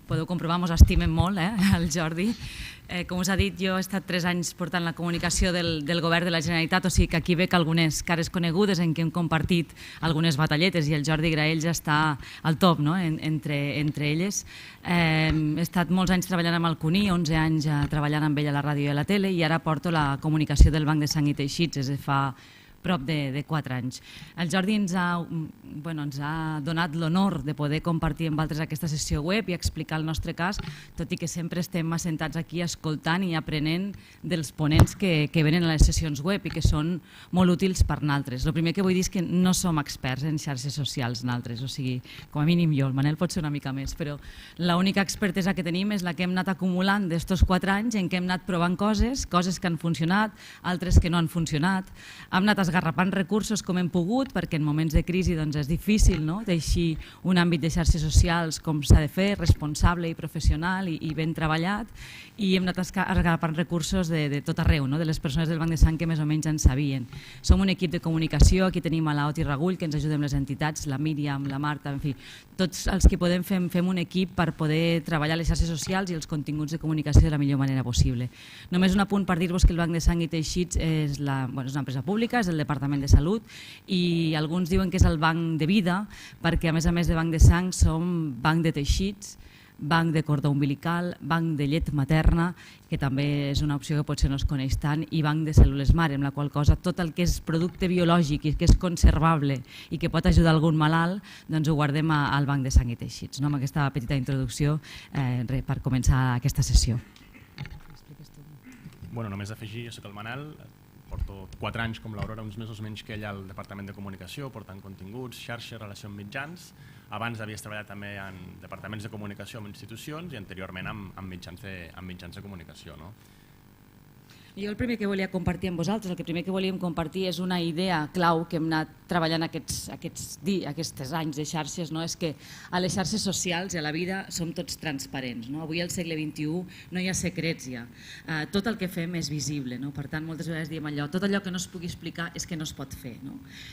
podeu comprovar, ens estimen molt, el Jordi. Com us ha dit, jo he estat 3 anys portant la comunicació del govern de la Generalitat, o sigui que aquí veig algunes cares conegudes en què hem compartit algunes batalletes i el Jordi Graells està al top entre elles. He estat molts anys treballant amb el CUNY, 11 anys treballant amb ell a la ràdio i a la tele, i ara porto la comunicació del Banc de Sang i Teixits des de fa prop de 4 anys. El Jordi ens ha donat l'honor de poder compartir amb altres aquesta sessió web i explicar el nostre cas, tot i que sempre estem assentats aquí escoltant i aprenent dels ponents que venen a les sessions web i que són molt útils per nosaltres. El primer que vull dir és que no som experts en xarxes socials nosaltres, o sigui, com a mínim jo, el Manel pot ser una mica més, però l'única expertesa que tenim és la que hem anat acumulant d'estos 4 anys en què hem anat provant coses que han funcionat, altres que no han funcionat. Hem anat esgarrapant recursos com hem pogut, perquè en moments de crisi és difícil teixir un àmbit de xarxes socials com s'ha de fer, responsable i professional i ben treballat, i hem anat esgarrapant recursos de tot arreu, de les persones del Banc de Sang que més o menys en sabien. Som un equip de comunicació, aquí tenim a l'Oti Regull, que ens ajuda amb les entitats, la Míriam, la Marta, en fi, tots els que podem fem un equip per poder treballar les xarxes socials i els continguts de comunicació de la millor manera possible. Només un apunt per dir-vos que el Banc de Sang i Teixits és una empresa pública, és el Departament de Salut, i alguns diuen que és el banc de vida perquè a més de banc de sang som banc de teixits, banc de cordó umbilical, banc de llet materna, que també és una opció que potser no es coneix tant, i banc de cèl·lules mare, amb la qual cosa tot el que és producte biològic i que és conservable i que pot ajudar algun malalt, doncs ho guardem al Banc de Sang i Teixits. Amb aquesta petita introducció per començar aquesta sessió. Només afegir, jo soc el Manel, porto 4 anys com l'Aurora, uns mesos menys que ella al Departament de Comunicació, portant continguts, xarxes, relació amb mitjans. Abans havies treballat també en departaments de comunicació amb institucions i anteriorment amb mitjans de comunicació. Jo el primer que volia compartir amb vosaltres, el primer que volíem compartir és una idea clau que hem anat treballant aquests anys de xarxes, és que a les xarxes socials i a la vida som tots transparents. Avui al segle XXI no hi ha secrets ja, tot el que fem és visible, per tant moltes vegades diem allò, tot allò que no es pugui explicar és que no es pot fer.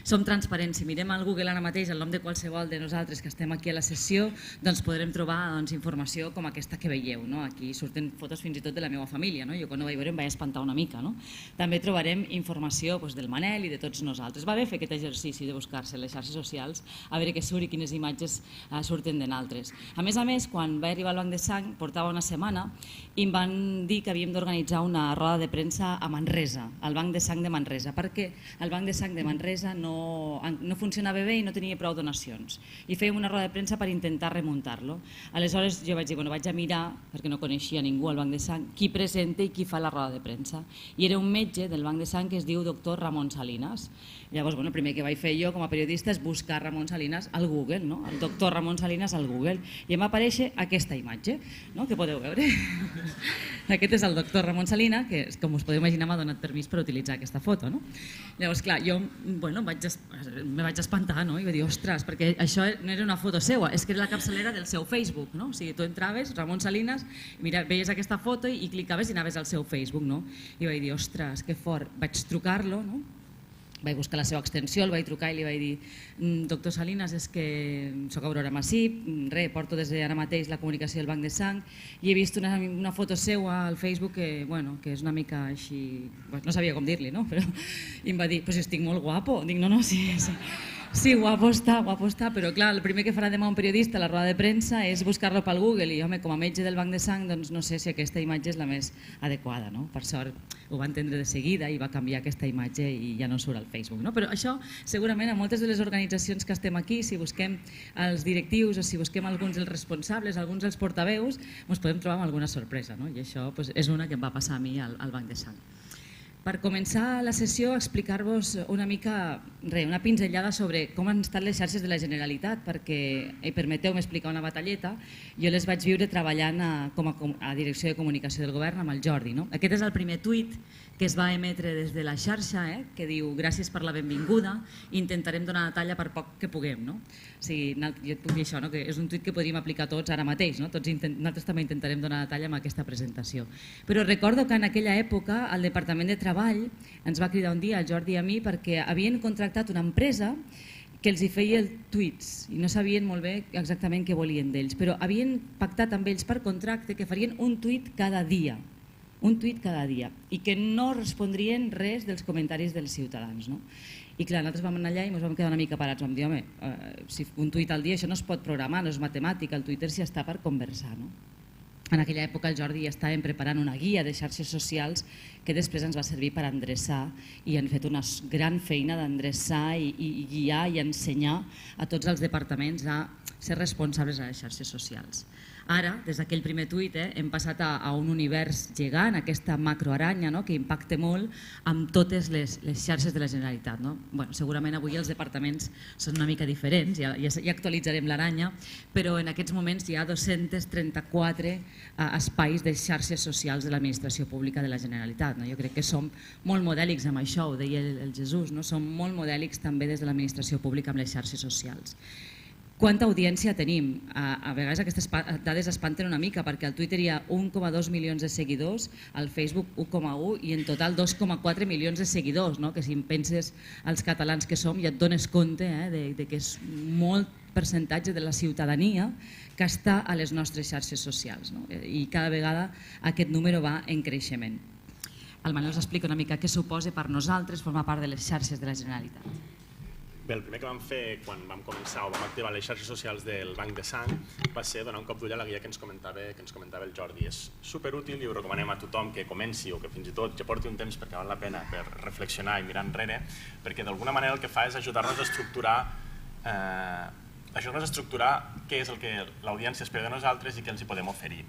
Som transparents, si mirem al Google ara mateix el nom de qualsevol de nosaltres que estem aquí a la sessió, doncs podrem trobar informació com aquesta que veieu, aquí surten fotos fins i tot de la meva família, jo quan ho vaig veure em vaig espantar una mica. També trobarem informació del Manel i de tots nosaltres. Va bé fer aquest exercici de buscar-se les xarxes socials, a veure què surt i quines imatges surten de nosaltres. A més, quan vaig arribar al Banc de Sang, portava una setmana, i em van dir que havíem d'organitzar una roda de premsa a Manresa, al Banc de Sang de Manresa, perquè el Banc de Sang de Manresa no funcionava bé i no tenia prou donacions. I fèiem una roda de premsa per intentar remuntar-lo. Aleshores jo vaig dir, vaig a mirar, perquè no coneixia ningú al Banc de Sang, qui presenta i qui fa la roda de premsa. I era un metge del Banc de Sang que es diu doctor Ramon Salinas. Llavors, el primer que vaig fer jo com a periodista és buscar Ramon Salinas al Google, el doctor Ramon Salinas al Google, i em va aparèixer aquesta imatge, que podeu veure. Aquest és el doctor Ramon Salinas, que, com us podeu imaginar, m'ha donat permís per utilitzar aquesta foto. Llavors, clar, jo me vaig espantar i vaig dir, ostres, perquè això no era una foto seva, és que era la capçalera del seu Facebook. O sigui, tu entraves, Ramon Salinas, veies aquesta foto i clicaves i anaves al seu Facebook. I vaig dir, ostres, que fort. Vaig trucar-lo, vaig buscar la seva extensió, el vaig trucar i li vaig dir, doctor Salinas, és que soc Aurora Massip, porto des d'ara mateix la comunicació del Banc de Sang i he vist una foto seva al Facebook que és una mica així, no sabia com dir-li, però em va dir, però si estic molt guapo. Dic, no, sí, guapo està, però clar, el primer que farà demà un periodista a la roda de premsa és buscar-lo pel Google i, home, com a metge del Banc de Sang, doncs no sé si aquesta imatge és la més adequada. Per sort ho va entendre de seguida i va canviar aquesta imatge i ja no surt al Facebook. Però això, segurament, a moltes de les organitzacions que estem aquí, si busquem els directius o si busquem alguns dels responsables, alguns dels portaveus, ens podem trobar amb alguna sorpresa. I això és una que em va passar a mi al Banc de Sang. Per començar la sessió, explicar-vos una mica, una pinzellada sobre com han estat les xarxes de la Generalitat, perquè, permeteu-me explicar una batalleta, jo les vaig viure treballant a Direcció de Comunicació del Govern amb el Jordi. Aquest és el primer tuit que es va emetre des de la xarxa, que diu gràcies per la benvinguda, intentarem donar la talla per poc que puguem. O sigui, jo et puc dir això, que és un tuit que podríem aplicar tots ara mateix, nosaltres també intentarem donar la talla amb aquesta presentació. Però recordo que en aquella època el Departament de Treball ens va cridar un dia, el Jordi i a mi, perquè havien contractat una empresa que els hi feia tuits i no sabien molt bé exactament què volien d'ells, però havien pactat amb ells per contracte que farien un tuit cada dia, i que no respondrien res dels comentaris dels ciutadans. I clar, nosaltres vam anar allà i ens vam quedar una mica parats, vam dir, home, si un tuit al dia això no es pot programar, no és matemàtica, el Twitter s'hi està per conversar. En aquella època el Jordi ja estàvem preparant una guia de xarxes socials que després ens va servir per endreçar i han fet una gran feina d'endreçar i guiar i ensenyar a tots els departaments a ser responsables de les xarxes socials. Ara, des d'aquell primer tuit, hem passat a un univers gegant, aquesta macroaranya que impacta molt amb totes les xarxes de la Generalitat. Segurament avui els departaments són una mica diferents, ja actualitzarem l'aranya, però en aquests moments hi ha 234 espais de xarxes socials de l'administració pública de la Generalitat. Jo crec que som molt modèlics amb això, ho deia el Jesús, som molt modèlics també des de l'administració pública amb les xarxes socials. Quanta audiència tenim? A vegades aquestes dades espanten una mica perquè al Twitter hi ha 1,2 milions de seguidors, al Facebook 1,1 i en total 2,4 milions de seguidors, que si em penses els catalans que som ja et dones compte que és molt percentatge de la ciutadania que està a les nostres xarxes socials i cada vegada aquest número va en creixement. El Manel us explica una mica què suposa per nosaltres formar part de les xarxes de la Generalitat. Bé, el primer que vam fer quan vam començar o vam activar les xarxes socials del Banc de Sang va ser donar un cop d'ull a la guia que ens comentava el Jordi. És superútil i ho recomanem a tothom que comenci o que fins i tot ja porti un temps perquè val la pena per reflexionar i mirar enrere, perquè d'alguna manera el que fa és ajudar-nos a estructurar què és el que l'audiència espera de nosaltres i què els hi podem oferir.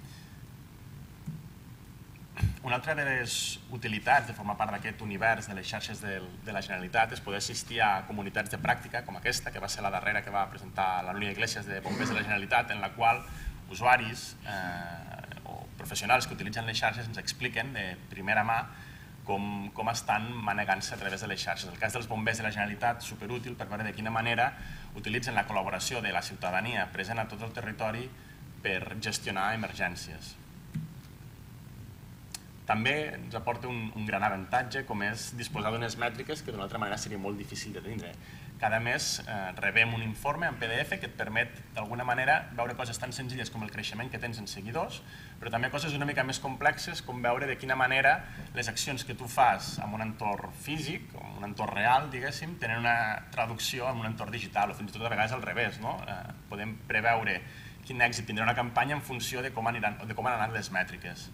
Una altra de les utilitats de formar part d'aquest univers de les xarxes de la Generalitat és poder assistir a comunitats de pràctica com aquesta, que va ser la darrera que va presentar la Núria Iglesias de Bombers de la Generalitat, en la qual usuaris o professionals que utilitzen les xarxes ens expliquen de primera mà com estan manegant-se a través de les xarxes. El cas dels bombers de la Generalitat, superútil per veure de quina manera utilitzen la col·laboració de la ciutadania present a tot el territori per gestionar emergències. També ens aporta un gran avantatge com és disposar d'unes mètriques que d'una altra manera seria molt difícil de tindre. Cada mes rebem un informe en PDF que et permet d'alguna manera veure coses tan senzilles com el creixement que tens en seguidors, però també coses una mica més complexes com veure de quina manera les accions que tu fas en un entorn físic, o en un entorn real, diguéssim, tenen una traducció en un entorn digital o fins i tot a vegades al revés. Podem preveure quin èxit tindrà una campanya en funció de com han anat les mètriques.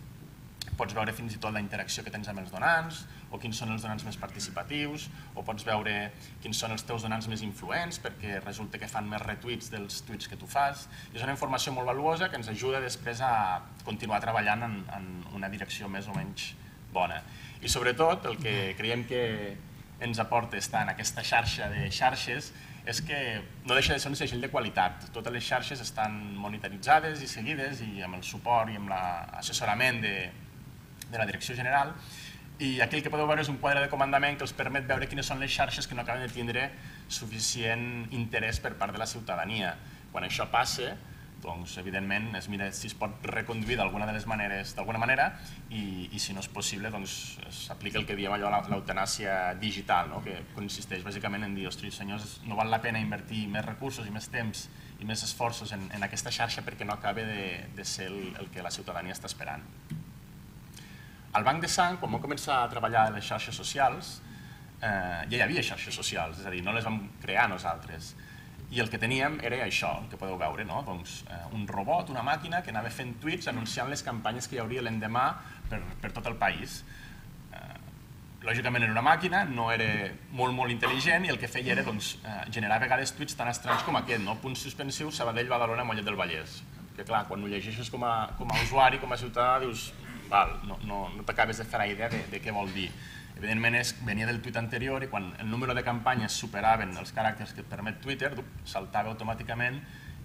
Pots veure fins i tot la interacció que tens amb els donants, o quins són els donants més participatius, o pots veure quins són els teus donants més influents, perquè resulta que fan més retuits dels tuits que tu fas. És una informació molt valuosa que ens ajuda després a continuar treballant en una direcció més o menys bona. I sobretot el que creiem que ens aporta estar en aquesta xarxa de xarxes és que no deixa de ser un segell de qualitat. Totes les xarxes estan monitoritzades i seguides i amb el suport i amb l'assessorament de la direcció general, i aquí el que podeu veure és un quadre de comandament que els permet veure quines són les xarxes que no acaben de tindre suficient interès per part de la ciutadania. Quan això passa, doncs evidentment es mira si es pot reconduir d'alguna manera i si no és possible s'aplica el que diem allò l'eutanàsia digital, que consisteix bàsicament en dir, ostres senyors, no val la pena invertir més recursos i més temps i més esforços en aquesta xarxa perquè no acaba de ser el que la ciutadania està esperant. Al Banc de Sang, quan vam començar a treballar a les xarxes socials, ja hi havia xarxes socials, és a dir, no les vam crear nosaltres. I el que teníem era això, el que podeu veure, un robot, una màquina que anava fent tuits anunciant les campanyes que hi hauria l'endemà per tot el país. Lògicament era una màquina, no era molt intel·ligent i el que feia era generar a vegades tuits tan estranys com aquest, punts suspensius, Sabadell, Badalona, Mollet del Vallès. Que clar, quan ho llegeixes com a usuari, com a ciutadà, dius no t'acabes de fer la idea de què vol dir. Evidentment venia del tuit anterior i quan el número de campanyes superaven els caràcters que et permet Twitter, saltava automàticament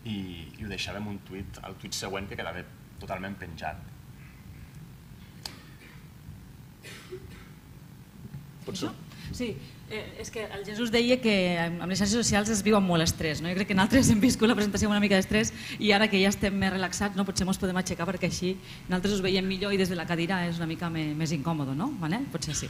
i ho deixàvem al tuit següent que quedava totalment penjat. Sí, És que el Jesús deia que amb les xarxes socials es viu amb molt estrès. Jo crec que nosaltres hem viscut la presentació amb una mica d'estrès i ara que ja estem més relaxats potser ens podem aixecar perquè així nosaltres us veiem millor i des de la cadira és una mica més incòmode, no? Potser sí.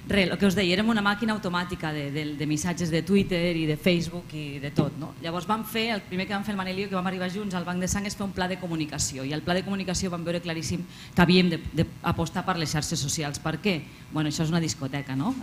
Res, el que us deia, érem una màquina automàtica de missatges de Twitter i de Facebook i de tot. Llavors el primer que vam fer el Manel i jo, que vam arribar junts al Banc de Sang, és fer un pla de comunicació i el pla de comunicació vam veure claríssim que havíem d'apostar per les xarxes socials. Per què? Això és una discoteca, no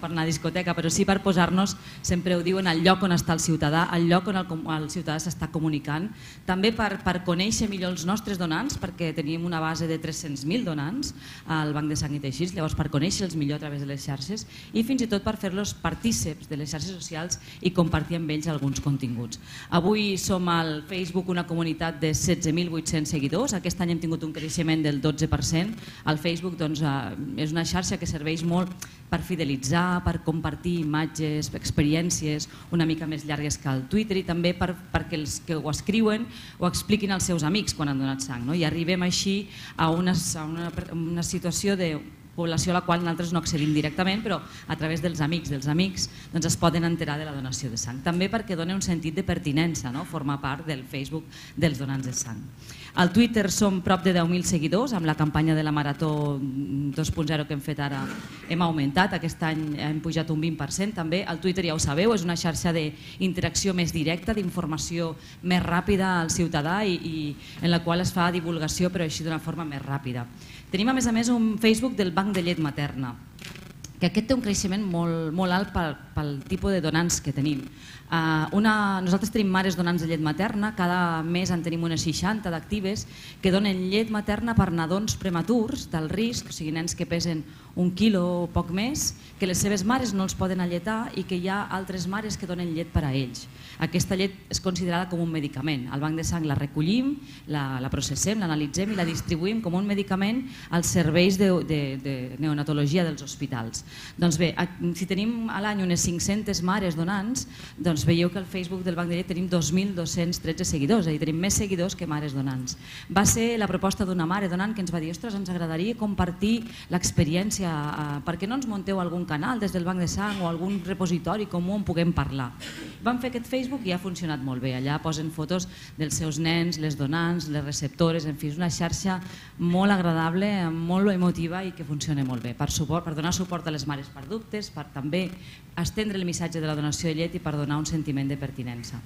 per anar a discoteca, però sí per posar-nos, sempre ho diuen, al lloc on està el ciutadà, al lloc on el ciutadà s'està comunicant, també per conèixer millor els nostres donants, perquè teníem una base de 300.000 donants al Banc de Sang i Teixits, llavors per conèixer-los millor a través de les xarxes i fins i tot per fer-los partíceps de les xarxes socials i compartir amb ells alguns continguts. Avui som al Facebook una comunitat de 16.800 seguidors, aquest any hem tingut un creixement del 12%. El Facebook és una xarxa que serveix molt per fidelitzar, per compartir imatges, experiències una mica més llargues que el Twitter i també perquè els que ho escriuen ho expliquin als seus amics quan han donat sang. I arribem així a una situació de població a la qual nosaltres no accedim directament, però a través dels amics es poden enterar de la donació de sang. També perquè dona un sentit de pertinença, formar part del Facebook dels donants de sang. Al Twitter som prop de 10.000 seguidors, amb la campanya de la Marató 2.0 que hem fet ara hem augmentat, aquest any hem pujat un 20%. També el Twitter, ja ho sabeu, és una xarxa d'interacció més directa, d'informació més ràpida al ciutadà i en la qual es fa divulgació, però així d'una forma més ràpida. Tenim a més un Facebook del Banc de Llet Materna, que aquest té un creixement molt alt pel tipus de donants que tenim. Nosaltres tenim mares donants de llet materna, cada mes en tenim unes 60 d'actives que donen llet materna per nadons prematurs del risc, o sigui nens que pesen 1 quilo o poc més, que les seves mares no els poden alletar i que hi ha altres mares que donen llet per a ells. Aquesta llet és considerada com un medicament. Al Banc de Sang la recollim, la processem, l'analitzem i la distribuïm com un medicament als serveis de neonatologia dels hospitals. Doncs bé, si tenim a l'any unes 500 mares donants, doncs veieu que al Facebook del Banc de Llet tenim 2.213 seguidors, és a dir, tenim més seguidors que mares donants. Va ser la proposta d'una mare donant que ens va dir: ostres, ens agradaria compartir l'experiència, per què no ens munteu algun canal des del Banc de Sang o algun repositori comú on puguem parlar? Vam fer aquest Facebook i ha funcionat molt bé. Allà posen fotos dels seus nens, les donants, les receptores, en fi, és una xarxa molt agradable, molt emotiva i que funciona molt bé per donar suport a les mares per dubtes, per també estendre el missatge de la donació de llet i per donar un sentiment de pertinença.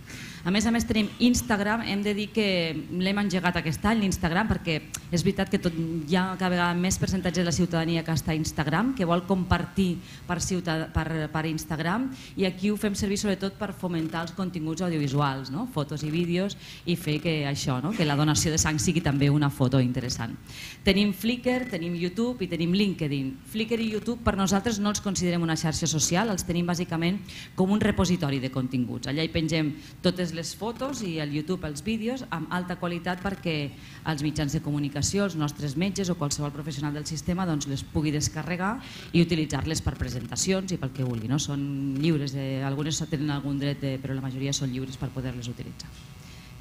A més tenim Instagram, hem de dir que l'hem engegat aquest any, l'Instagram, perquè és veritat que hi ha cada vegada més percentatge de la ciutadania que està a Instagram, que vol compartir per Instagram, i aquí ho fem servir sobretot per fomentar els continguts audiovisuals, fotos i vídeos, i fer que això, que la donació de sang sigui també una foto interessant. Tenim Flickr, tenim YouTube i tenim LinkedIn. Flickr i YouTube per nosaltres no els considerem una xarxa social, els tenim bàsicament com un repositori de continguts. Allà hi pengem totes les fotos i al YouTube els vídeos amb alta qualitat perquè els mitjans de comunicació, els nostres metges o qualsevol professional del sistema les pugui descarregar i utilitzar-les per presentacions i pel que vulgui. Són lliures, algunes tenen algun dret, però la majoria són lliures per poder-les utilitzar.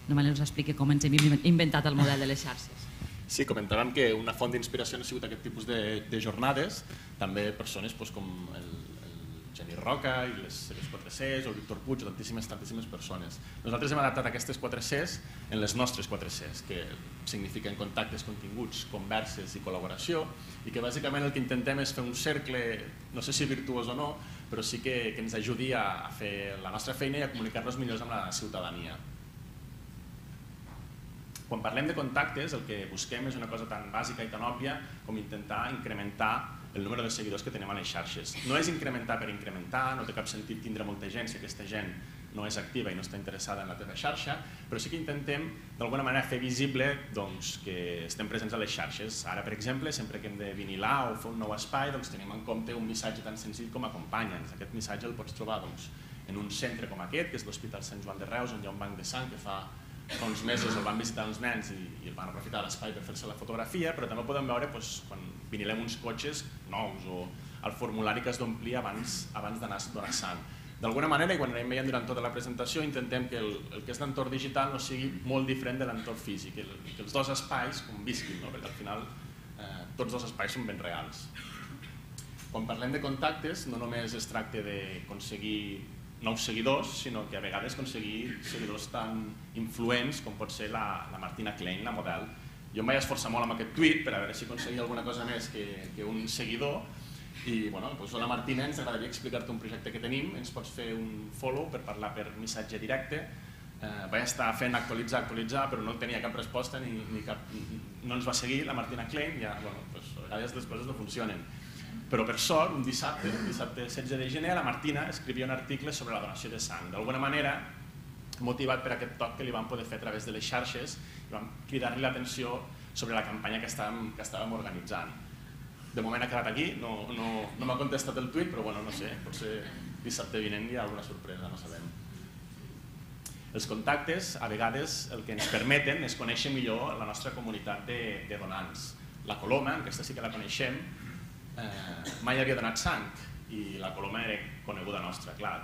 Només us expliqui com ens hem inventat el model de les xarxes. Sí, comentàvem que una font d'inspiració ha sigut aquest tipus de jornades, també persones com el Geni Roca i les seves 4 Cs, o el Víctor Puig, tantíssimes persones. Nosaltres hem adaptat aquestes 4 Cs en les nostres 4 Cs, que signifiquen contactes, continguts, converses i col·laboració, i que bàsicament el que intentem és fer un cercle, no sé si virtuós o no, però sí que ens ajudi a fer la nostra feina i a comunicar-nos millor amb la ciutadania. Quan parlem de contactes, el que busquem és una cosa tan bàsica i tan òbvia com intentar incrementar el número de seguidors que tenim a les xarxes. No és incrementar per incrementar, no té cap sentit tindre molta gent si aquesta gent no és activa i no està interessada en la teva xarxa, però sí que intentem d'alguna manera fer visible que estem presents a les xarxes. Ara, per exemple, sempre que hem de vinilar o fer un nou espai, tenim en compte un missatge tan senzill com acompanya'ns. Aquest missatge el pots trobar en un centre com aquest, que és l'Hospital Sant Joan de Reus, on hi ha un banc de sang que fa uns mesos el van visitar els nens i el van aprofitar l'espai per fer-se la fotografia, però també podem veure quan vinilem uns cotxes nous o el formulari que has d'omplir abans d'anar a donar sang. D'alguna manera, i quan anem veient durant tota la presentació, intentem que el que és l'entorn digital no sigui molt diferent de l'entorn físic, que els dos espais convisquin, perquè al final tots dos espais són ben reals. Quan parlem de contactes, no només es tracta d'aconseguir nous seguidors, sinó que a vegades aconseguir seguidors tan influents com pot ser la Martina Klein, la model. Jo em vaig esforçar molt amb aquest tuit per a veure si aconseguia alguna cosa més que un seguidor i, bueno, doncs la Martina, ens agradaria explicar-te un projecte que tenim, ens pots fer un follow per parlar per missatge directe. Vaig estar fent actualitzar, però no tenia cap resposta ni cap... No ens va seguir la Martina Klein, ja, bueno, doncs a vegades les coses no funcionen. Però per sort, un dissabte 16 de gener, la Martina escrivia un article sobre la donació de sang. D'alguna manera, motivat per aquest toc que li vam poder fer a través de les xarxes, i vam cridar-li l'atenció sobre la campanya que estàvem organitzant. De moment ha quedat aquí, no m'ha contestat el tuit, però bueno, no sé, potser dissabte vinent hi ha alguna sorpresa, no sabem. Els contactes, a vegades, el que ens permeten és conèixer millor la nostra comunitat de donants. La Coloma, aquesta sí que la coneixem, mai havia donat sang i la Coloma era coneguda nostra, clar.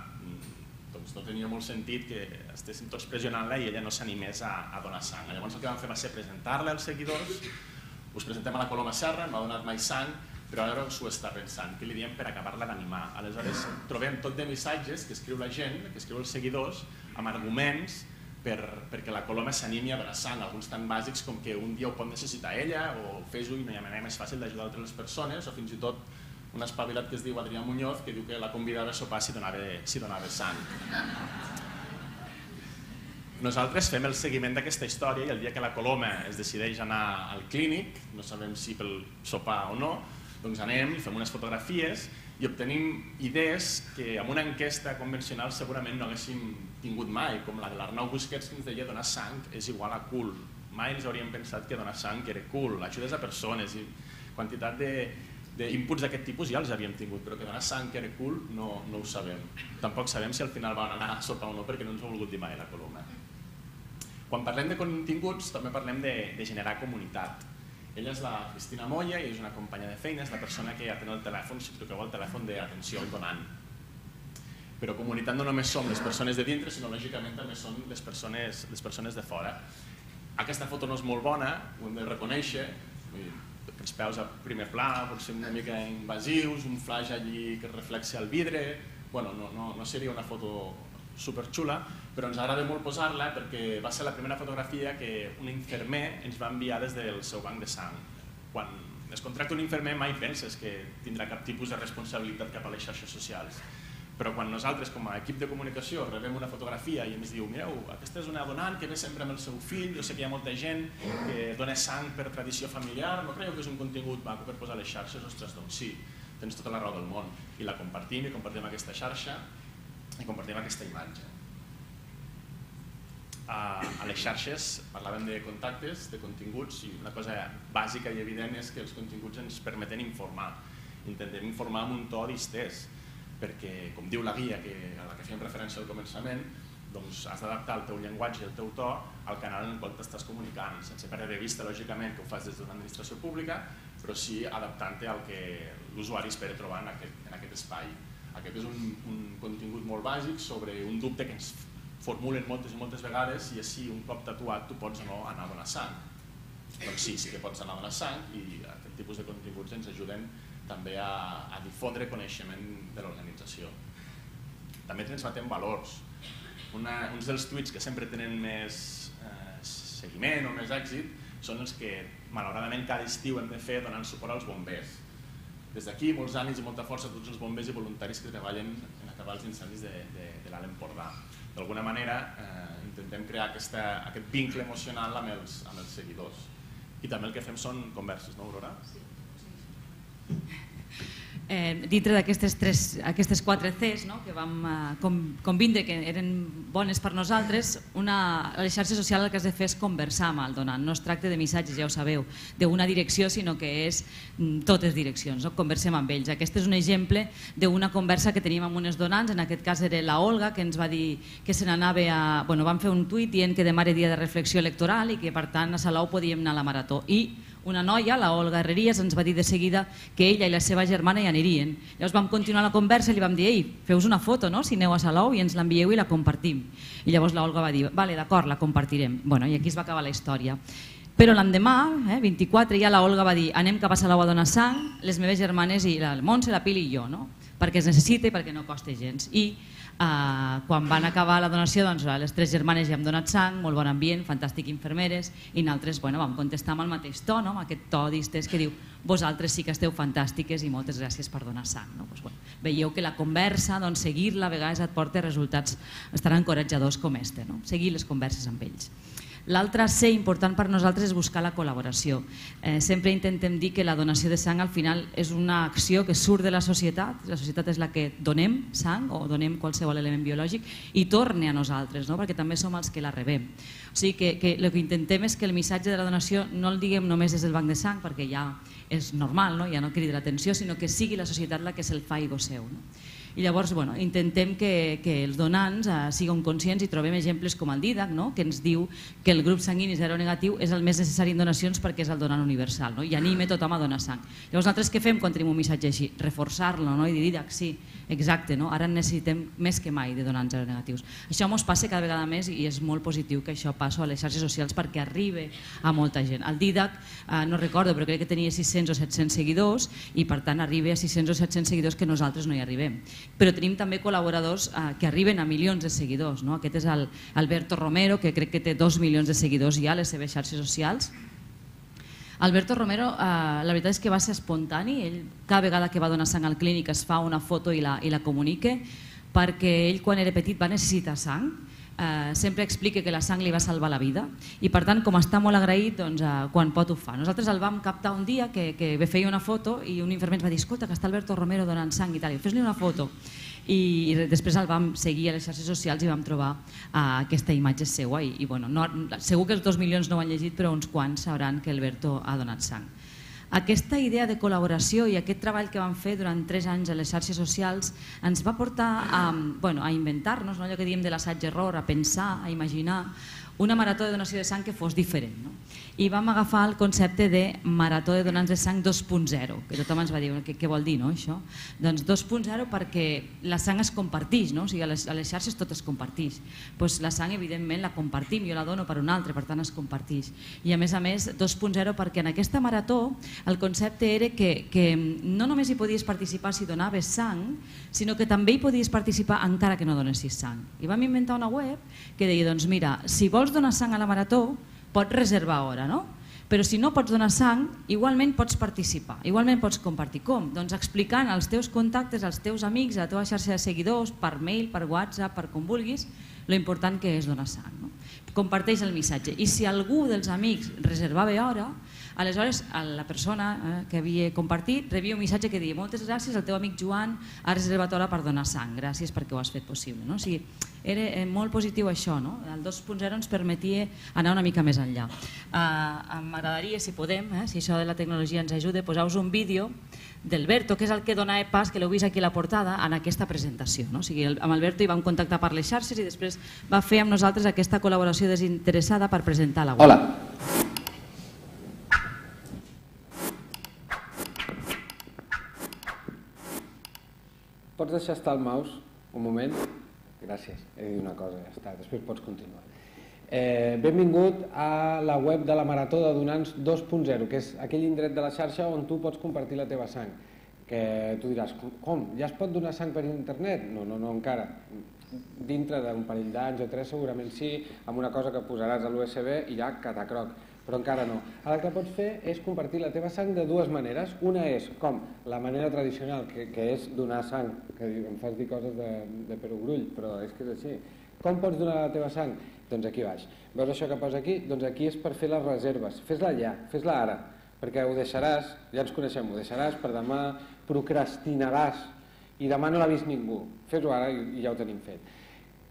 Doncs no tenia molt sentit que estéssim tots pressionant-la i ella no s'animés a donar sang. Llavors el que vam fer va ser presentar-la als seguidors. Us presentem a la Coloma Serra, no ha donat mai sang, però ara s'ho està pensant, què li diem per acabar-la d'animar. Aleshores trobem tot de missatges que escriu la gent, que escriu els seguidors, amb arguments perquè la Coloma s'animi a donar sang, alguns tan bàsics com que un dia ho pot necessitar ella, o fes-ho i no hi ha manera més fàcil d'ajudar altres persones, o fins i tot un espavilat que es diu Adrià Muñoz, que diu que la convidava a sopar si donava sang. Nosaltres fem el seguiment d'aquesta història i el dia que la Coloma es decideix anar al clínic, no sabem si pel sopar o no, doncs anem i fem unes fotografies i obtenim idees que amb una enquesta convencional segurament no haguéssim tingut mai, com la de l'Arnau Busquets que ens deia donar sang és igual a cool. Mai ens hauríem pensat que donar sang era cool, ajudes a persones i quantitat d'inputs d'aquest tipus ja els havíem tingut, però que donar sang era cool no ho sabem. Tampoc sabem si al final van anar a sopar o no perquè no ens ho ha volgut dir mai la Coloma. Quan parlem de continguts també parlem de generar comunitat. Ella és la Cristina Moya i és una companya de feina, és la persona que atén el telèfon, si truqueu al telèfon d'atenció al donant. Però comunitat no només som les persones de dintre, sinó lògicament també són les persones de fora. Aquesta foto no és molt bona, ho hem de reconèixer, els peus a primer pla, potser una mica invasius, un flash allí que reflexa el vidre, bueno, no seria una foto superxula, però ens agrada molt posar-la perquè va ser la primera fotografia que un infermer ens va enviar des del seu banc de sang. Quan es contracta un infermer mai penses que tindrà cap tipus de responsabilitat cap a les xarxes socials, però quan nosaltres com a equip de comunicació rebem una fotografia i ens diu mireu, aquesta és una donant que ve sempre amb el seu fill, jo sé que hi ha molta gent que dona sang per tradició familiar, no creieu que és un contingut maco per posar a les xarxes? Ostres, doncs sí, tens tota la raó del món, i la compartim aquesta xarxa i compartim aquesta imatge. A les xarxes parlàvem de contactes, de continguts, i una cosa bàsica i evident és que els continguts ens permeten informar. Intentem informar amb un to distès, perquè, com diu la guia a la que fèiem referència al començament, doncs has d'adaptar el teu llenguatge i el teu to al canal en el qual t'estàs comunicant, sense perdre de vista, lògicament, que ho fas des d'una administració pública, però sí adaptant-te al que l'usuari espera trobar en aquest espai. Aquest és un contingut molt bàsic sobre un dubte que ens formulen moltes i moltes vegades i és si un cop tatuat tu pots o no anar a donar sang. Doncs sí que pots anar a donar sang i aquest tipus de continguts ens ajuden també a difondre coneixement de l'organització. També transmetem valors. Uns dels tuits que sempre tenen més seguiment o més èxit són els que malauradament cada estiu hem de fer donant suport als bombers. Des d'aquí, molts ànims i molta força a tots els bombers i voluntaris que treballen en acabar els incendis de l'Alt Empordà. D'alguna manera, intentem crear aquest vincle emocional amb els seguidors. I també el que fem són converses, no, Aurora? Sí. Dintre d'aquestes 4 Cs que vam convindre que eren bones per nosaltres, a les xarxes socials el que has de fer és conversar amb el donant. No es tracta de missatges, ja ho sabeu, d'una direcció, sinó que és totes direccions, conversem amb ells. Aquest és un exemple d'una conversa que teníem amb unes donants, en aquest cas era la Olga, que ens va dir que se n'anava a... Vam fer un tuit dient que demà era dia de reflexió electoral i que per tant a Salou podíem anar a la marató. I una noia, la Olga Herrerías, ens va dir de seguida que ella i la seva germana hi anirien. Llavors vam continuar la conversa i li vam dir ei, feu-vos una foto, si aneu a Salou i ens l'envieu i la compartim. I llavors la Olga va dir, vale, d'acord, la compartirem. I aquí es va acabar la història. Però l'endemà, 24, ja la Olga va dir anem cap a Salou a donar sang, les meves germanes, i la Montse, la Pili i jo, no? Perquè es necessita i perquè no costa gens. I quan van acabar la donació, doncs, les 3 germanes ja hem donat sang, molt bon ambient, fantàstic infermeres, i nosaltres vam contestar amb el mateix to, amb aquest to distès que diu vosaltres sí que esteu fantàstiques i moltes gràcies per donar sang. Veieu que la conversa, seguir-la, a vegades et porta resultats tan encoratjadors com este, seguir les converses amb ells. L'altre ser important per nosaltres és buscar la col·laboració. Sempre intentem dir que la donació de sang al final és una acció que surt de la societat és la que donem sang o donem qualsevol element biològic i torna a nosaltres, perquè també som els que la rebem. O sigui que el que intentem és que el missatge de la donació no el diguem només des del banc de sang, perquè ja és normal, ja no crida l'atenció, sinó que sigui la societat la que se'l faci seu. I llavors intentem que els donants siguin conscients i trobem exemples com el Didac, que ens diu que el grup sanguini seronegatiu és el més necessari en donacions perquè és el donant universal i anima tothom a donar sang. Llavors nosaltres què fem quan tenim un missatge així? Reforçar-lo i dir Didac, sí, exacte, ara necessitem més que mai de donants seronegatius. Això ens passa cada vegada més i és molt positiu que això passi a les xarxes socials perquè arribi a molta gent. El Didac, no recordo, però crec que tenia 600 o 700 seguidors i per tant arriba a 600 o 700 seguidors que nosaltres no hi arribem. Però tenim també col·laboradors que arriben a milions de seguidors. Aquest és Alberto Romero, que crec que té 2 milions de seguidors ja a les seves xarxes socials. Alberto Romero, la veritat és que va ser espontani. Ell, cada vegada que va donar sang al clínic, es fa una foto i la comunica, perquè ell, quan era petit, va necessitar sang. Sempre explica que la sang li va salvar la vida i per tant, com està molt agraït, quan pot ho fa. Nosaltres el vam captar un dia que feia una foto i un infermer ens va dir escolta, que està Alberto Romero donant sang i tal, fes-li una foto. I després el vam seguir a les xarxes socials i vam trobar aquesta imatge seva i segur que els 2 milions no ho han llegit, però uns quants sabran que Alberto ha donat sang. Aquesta idea de col·laboració i aquest treball que vam fer durant 3 anys a les xarxes socials ens va portar a inventar-nos, allò que diem de l'assaig-error, a pensar, a imaginar una marató de donació de sang que fos diferent. I vam agafar el concepte de marató de donants de sang 2.0, que tothom ens va dir, què vol dir això? Doncs 2.0 perquè la sang es comparteix, o sigui, a les xarxes tot es comparteix. La sang, evidentment, la compartim, jo la dono per un altre, per tant es comparteix. I a més 2.0 perquè en aquesta marató el concepte era que no només hi podies participar si donaves sang, sinó que també hi podies participar encara que no donessis sang. I vam inventar una web que deia, doncs mira, si vols donar sang a la marató, pots reservar hora, però si no pots donar sang, igualment pots participar, igualment pots compartir. Com? Doncs explicant als teus contactes, als teus amics, a la teva xarxa de seguidors, per mail, per WhatsApp, per com vulguis, lo important que és donar sang. Comparteix el missatge. I si algú dels amics reservava hora, aleshores la persona que havia compartit rebia un missatge que deia moltes gràcies, el teu amic Joan ha reservat hora per donar sang, gràcies perquè ho has fet possible. O sigui, era molt positiu això, el 2.0 ens permetia anar una mica més enllà. M'agradaria, si podem, si això de la tecnologia ens ajuda, posar-vos un vídeo d'Alberto, que és el que dona pas, que l'heu vist aquí a la portada, en aquesta presentació. O sigui, amb Alberto hi vam contactar per les xarxes i després va fer amb nosaltres aquesta col·laboració desinteressada per presentar la web. Hola. Pots deixar estar el mouse un moment? Gràcies, he dit una cosa, ja està, després pots continuar. Benvingut a la web de la Marató de Donants 2.0, que és aquell indret de la xarxa on tu pots compartir la teva sang. Que tu diràs, com? Ja es pot donar sang per internet? No, encara. Dintre d'un parell d'anys o 3 segurament sí, amb una cosa que posaràs a l'USB i ja catacroc, però encara no. El que pots fer és compartir la teva sang de dues maneres. Una és, com la manera tradicional, que és donar sang, que em fas dir coses de perogrull, però és que és així. Com pots donar la teva sang? Doncs aquí baix. Veus això que posa aquí? Doncs aquí és per fer les reserves. Fes-la ja, fes-la ara, perquè ho deixaràs, ja ens coneixem, ho deixaràs per demà, procrastinaràs i demà no l'ha vist ningú. Fes-ho ara i ja ho tenim fet.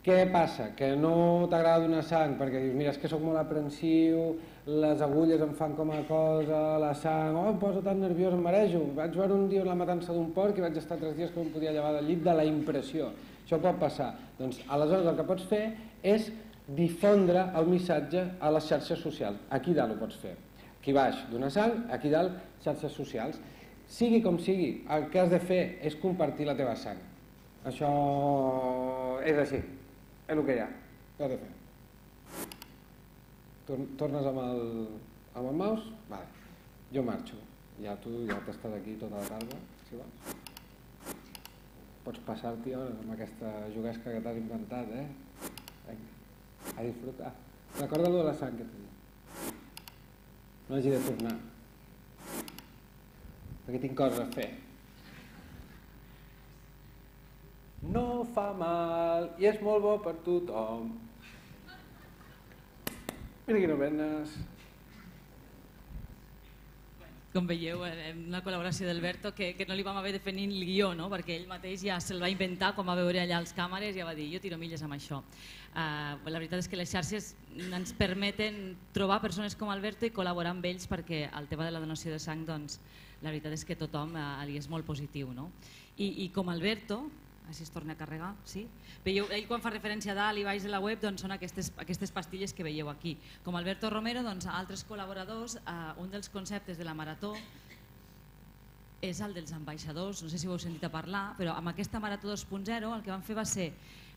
Què passa? Que no t'agrada donar sang perquè dius, mira, és que soc molt aprensiu, les agulles em fan com a cosa, la sang, em poso tan nerviós, em marejo. Vaig veure un dia la matança d'un porc i vaig estar 3 dies que no em podia llevar del llit de la impressió. Això pot passar. Doncs aleshores el que pots fer és difondre el missatge a les xarxes socials. Aquí dalt ho pots fer. Aquí baix, donar sang, aquí dalt, xarxes socials. Sigui com sigui, el que has de fer és compartir la teva sang. Això és així, és el que hi ha. Què has de fer? Tornes amb el Amb el mouse? Vale. Jo marxo. Ja tu ja t'has estat aquí tota la tarda, si vols. Pots passar-t'hi hores amb aquesta juguesca que t'has inventat, Vinga, a disfrutar. Recorda allò de la sang que t'he dit. No hagi de tornar. Perquè tinc coses a fer. No fa mal i és molt bo per tothom. Mira quines venes. Com veieu, una col·laboració d'Alberto que no li vam haver de fer ni el guió, no? Perquè ell mateix ja se'l va inventar, quan va veure allà les càmeres, ja va dir, jo tiro milles amb això. La veritat és que les xarxes ens permeten trobar persones com Alberto i col·laborar amb ells, perquè el tema de la donació de sang, doncs, la veritat és que tothom li és molt positiu, no? I com Alberto, així es torna a carregar, sí? Veieu, ell quan fa referència a dalt i baix de la web doncs són aquestes pastilles que veieu aquí. Com Alberto Romero, doncs, altres col·laboradors, un dels conceptes de la marató és el dels ambaixadors, no sé si ho heu sentit a parlar, però amb aquesta Marató 2.0 el que vam fer va ser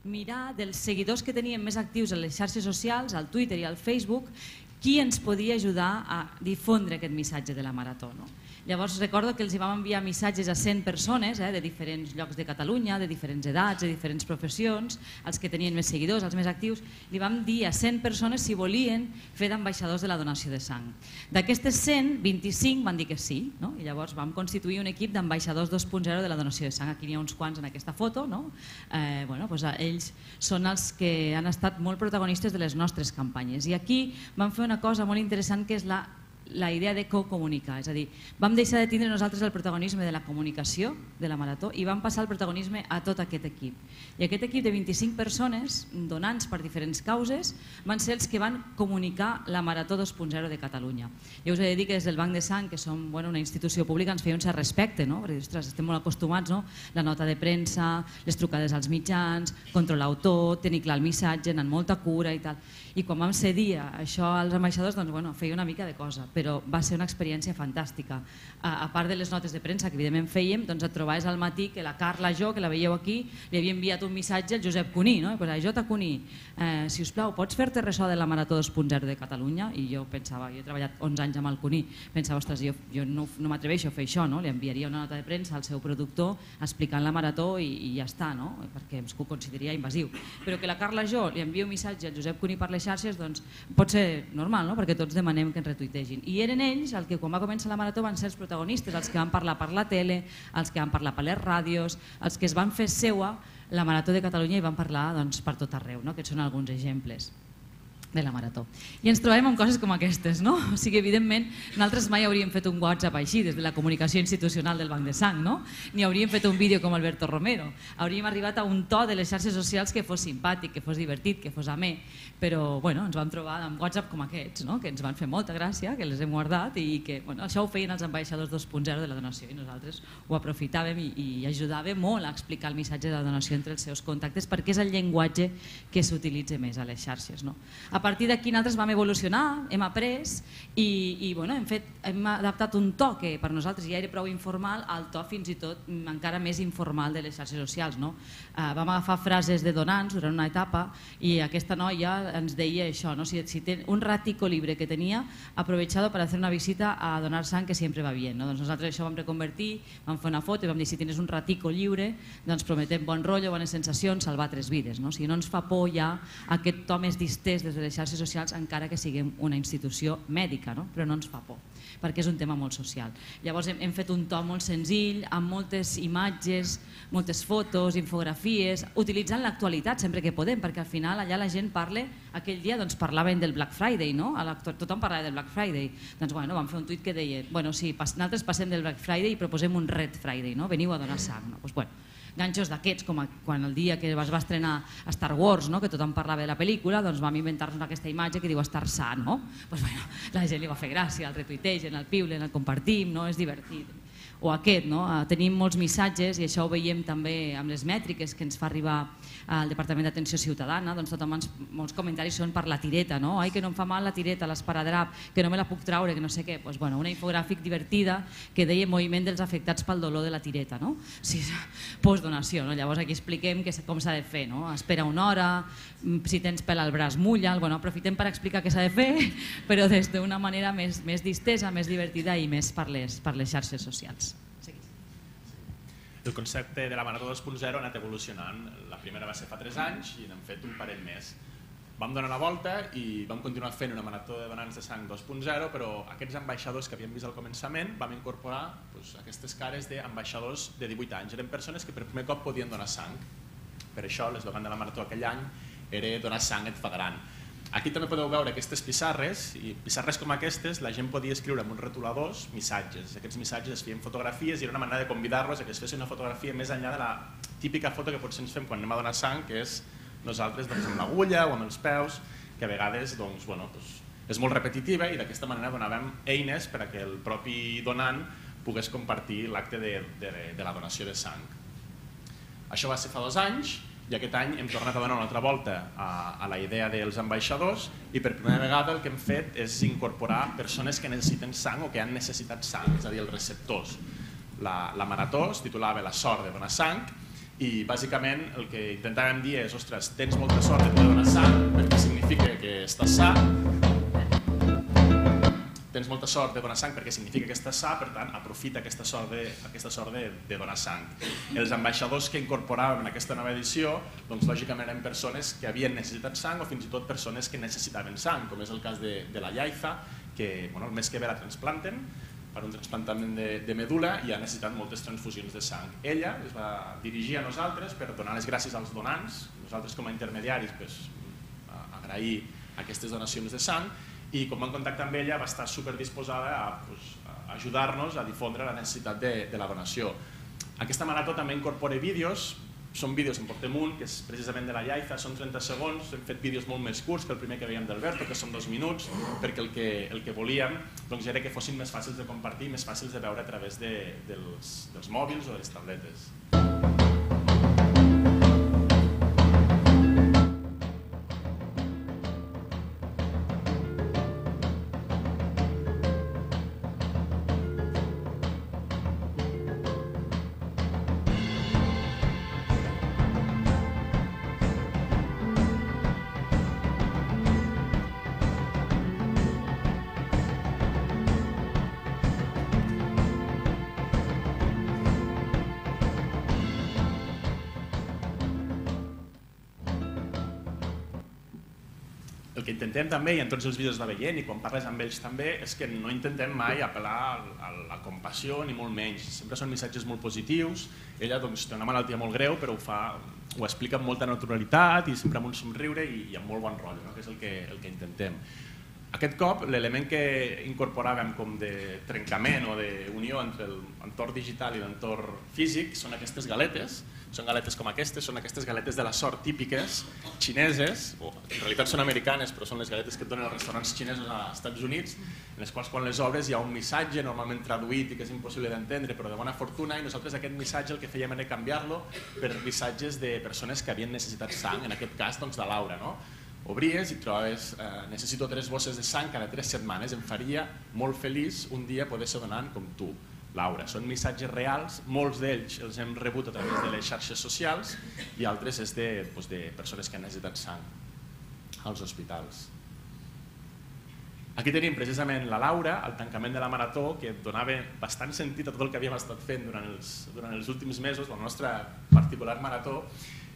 mirar dels seguidors que tenien més actius a les xarxes socials, al Twitter i al Facebook, qui ens podia ajudar a difondre aquest missatge de la marató, no? Llavors recordo que els vam enviar missatges a 100 persones de diferents llocs de Catalunya, de diferents edats, de diferents professions, els que tenien més seguidors, els més actius, li vam dir a 100 persones si volien fer d'ambaixadors de la donació de sang. D'aquestes 100, 25 van dir que sí, no? I llavors vam constituir un equip d'ambaixadors 2.0 de la donació de sang. Aquí n'hi ha uns quants en aquesta foto, no? Ells són els que han estat molt protagonistes de les nostres campanyes. I aquí vam fer una cosa molt interessant que és la idea de comunicar, és a dir, vam deixar de tindre nosaltres el protagonisme de la comunicació de la marató i vam passar el protagonisme a tot aquest equip. I aquest equip de 25 persones, donants per diferents causes, van ser els que van comunicar la Marató 2.0 de Catalunya. Jo us he de dir que des del Banc de Sang, que som una institució pública, ens feia un cert respecte, no? Perquè ostres, estem molt acostumats, no? La nota de premsa, les trucades als mitjans, controlar-ho tot, tenir clar el missatge, anar amb molta cura i tal. I quan vam cedir això als ambaixadors, doncs, feia una mica de cosa, però va ser una experiència fantàstica. A part de les notes de premsa que evidentment fèiem, doncs et trobaves al matí que la Carla, que la veieu aquí, li havia enviat un missatge al Josep Cuní, no? Jota Cuní, si us plau, pots fer-te ressò de la Marató 2.0 de Catalunya? I jo pensava, jo he treballat 11 anys amb el Cuní, pensava, ostres, jo no m'atreveixo a fer això, no? Li enviaria una nota de premsa al seu productor explicant la Marató i ja està, no? Perquè ho consideraria invasiu. Però que la Carla li envia un missatge al Josep Cuní per les xarxes, doncs pot ser normal, no? Perquè tots demanem que ens retuitegin. I eren ells els que quan va començar la Marató van ser els protagonistes, els que van parlar per la tele, els que van parlar per les ràdios, els que es van fer seua la Marató de Catalunya i van parlar per tot arreu, no? Aquests són alguns exemples de la Marató. I ens trobem amb coses com aquestes, no? O sigui, evidentment, nosaltres mai hauríem fet un WhatsApp així, des de la comunicació institucional del Banc de Sang, no? Ni hauríem fet un vídeo com Alberto Romero. Hauríem arribat a un to de les xarxes socials que fos simpàtic, que fos divertit, que fos amè, però ens vam trobar amb WhatsApp com aquests, no? Que ens van fer molta gràcia, que les hem guardat i que això ho feien els ambaixadors 2.0 de la donació i nosaltres ho aprofitàvem i ajudàvem molt a explicar el missatge de la donació entre els seus contactes perquè és el llenguatge que s'utilitza més a les xarxes, no? A partir d'aquí nosaltres vam evolucionar, hem après i hem adaptat un to que per nosaltres ja era prou informal al to fins i tot encara més informal de les xarxes socials, no? Vam agafar frases de donants durant una etapa i aquesta noia ens deia això, ¿no? Si un ratico libre que tenía, aprovechado para hacer una visita a donar sang, que siempre va bien, ¿no? Doncs nosaltres això vam reconvertir, vam fer una foto i vam dir si tens un ratico lliure, doncs prometem bon rotllo, bones sensacions, salvar 3 vides, no? O sigui, no ens fa por ja aquest to més distès des de les xarxes socials, encara que siguem una institució mèdica, no? Però no ens fa por, perquè és un tema molt social. Llavors hem fet un to molt senzill, amb moltes imatges, moltes fotos, infografies, utilitzant l'actualitat sempre que podem, perquè al final allà la gent parla, aquell dia parlaven del Black Friday, no? Tothom parlava del Black Friday. Doncs vam fer un tuit que deia, sí, nosaltres passem del Black Friday i proposem un Red Friday, no? Veniu a donar sang. Ganxos d'aquests, com quan el dia que es va estrenar Star Wars, que tothom parlava de la pel·lícula, doncs vam inventar-nos aquesta imatge que diu estar sa, no? La gent li va fer gràcia, el retuitegen, el piulen, el compartim, és divertit. o aquest, tenim molts missatges, i això ho veiem també amb les mètriques que ens fa arribar al Departament d'Atenció Ciutadana, doncs molts comentaris són per la tireta, ai que no em fa mal la tireta, l'esparadrap, que no me la puc traure, que no sé què, una infogràfic divertida que deia moviment dels afectats pel dolor de la tireta, postdonació, llavors aquí expliquem com s'ha de fer, espera una hora, si tens pèl al braç mulla'l, aprofitem per explicar què s'ha de fer, però des d'una manera més distesa, més divertida i més per les xarxes socials. El concepte de la Marató 2.0 ha anat evolucionant. La primera va ser fa 3 anys i n'hem fet un parell més. Vam donar la volta i vam continuar fent una Marató de donants de sang 2.0, però aquests ambaixadors que havíem vist al començament vam incorporar aquestes cares d'ambaixadors de 18 anys. Eren persones que per primer cop podien donar sang. Per això l'eslògan de la Marató aquell any era donar sang et fa gran. Aquí també podeu veure aquestes pissarres, i pissarres com aquestes la gent podia escriure amb uns retoladors missatges. Aquests missatges es feien fotografies i era una manera de convidar-los a que es fessin una fotografia més enllà de la típica foto que potser ens fem quan anem a donar sang, que és nosaltres amb l'agulla o amb els peus, que a vegades és molt repetitiva, i d'aquesta manera donàvem eines per a que el propi donant pogués compartir l'acte de la donació de sang. Això va ser fa 2 anys, i aquest any hem tornat a donar una altra volta a la idea dels ambaixadors, i per primera vegada el que hem fet és incorporar persones que necessiten sang o que han necessitat sang, és a dir, els receptors. La Marató es titulava La sort de donar sang, i bàsicament el que intentàvem dir és: ostres, tens molta sort de poder donar sang perquè significa que estàs sa, tens molta sort de donar sang perquè significa que estàs sa, per tant, aprofita aquesta sort de donar sang. Els ambaixadors que incorporàvem en aquesta nova edició, lògicament eren persones que havien necessitat sang o fins i tot persones que necessitaven sang, com és el cas de la Yaiza, que el mes que ve la transplanten per un trasplantament de medul·la i ha necessitat moltes transfusions de sang. Ella es va dirigir a nosaltres per donar les gràcies als donants, nosaltres com a intermediaris agrair aquestes donacions de sang, i quan vam contactar amb ella va estar superdisposada a ajudar-nos a difondre la necessitat de la donació. Aquesta marató també incorpora vídeos, són vídeos, en portem un, que és precisament de la Yaiza, són 30 segons, hem fet vídeos molt més curts que el primer que veiem d'Alberto, que són 2 minuts, perquè el que volíem era que fossin més fàcils de compartir, més fàcils de veure a través dels mòbils o de les tabletes. El que intentem també, i en tots els vídeos va veient, i quan parles amb ells també, és que no intentem mai apel·lar a la compassió, ni molt menys. Sempre són missatges molt positius. Ella té una malaltia molt greu, però ho explica amb molta naturalitat i sempre amb un somriure i amb molt bon rotllo, que és el que intentem. Aquest cop, l'element que incorporàvem com de trencament o d'unió entre l'entorn digital i l'entorn físic són aquestes galetes. Són galetes com aquestes, són aquestes galetes de la sort típiques xineses, o en realitat són americanes, però són les galetes que et donen els restaurants xinesos als Estats Units, en les quals quan les obres hi ha un missatge normalment traduït i que és impossible d'entendre, però de bona fortuna, i nosaltres aquest missatge el que fèiem era canviar-lo per missatges de persones que havien necessitat sang, en aquest cas de Laura. Obries i trobaves, necessito 3 bosses de sang cada 3 setmanes, em faria molt feliç un dia poder ser donant com tu, Laura. Són missatges reals, molts d'ells els hem rebut a través de les xarxes socials i altres és de persones que han necessitat sang als hospitals. Aquí tenim precisament la Laura, al tancament de la marató, que donava bastant sentit a tot el que havíem estat fent durant els últims mesos, la nostra particular marató.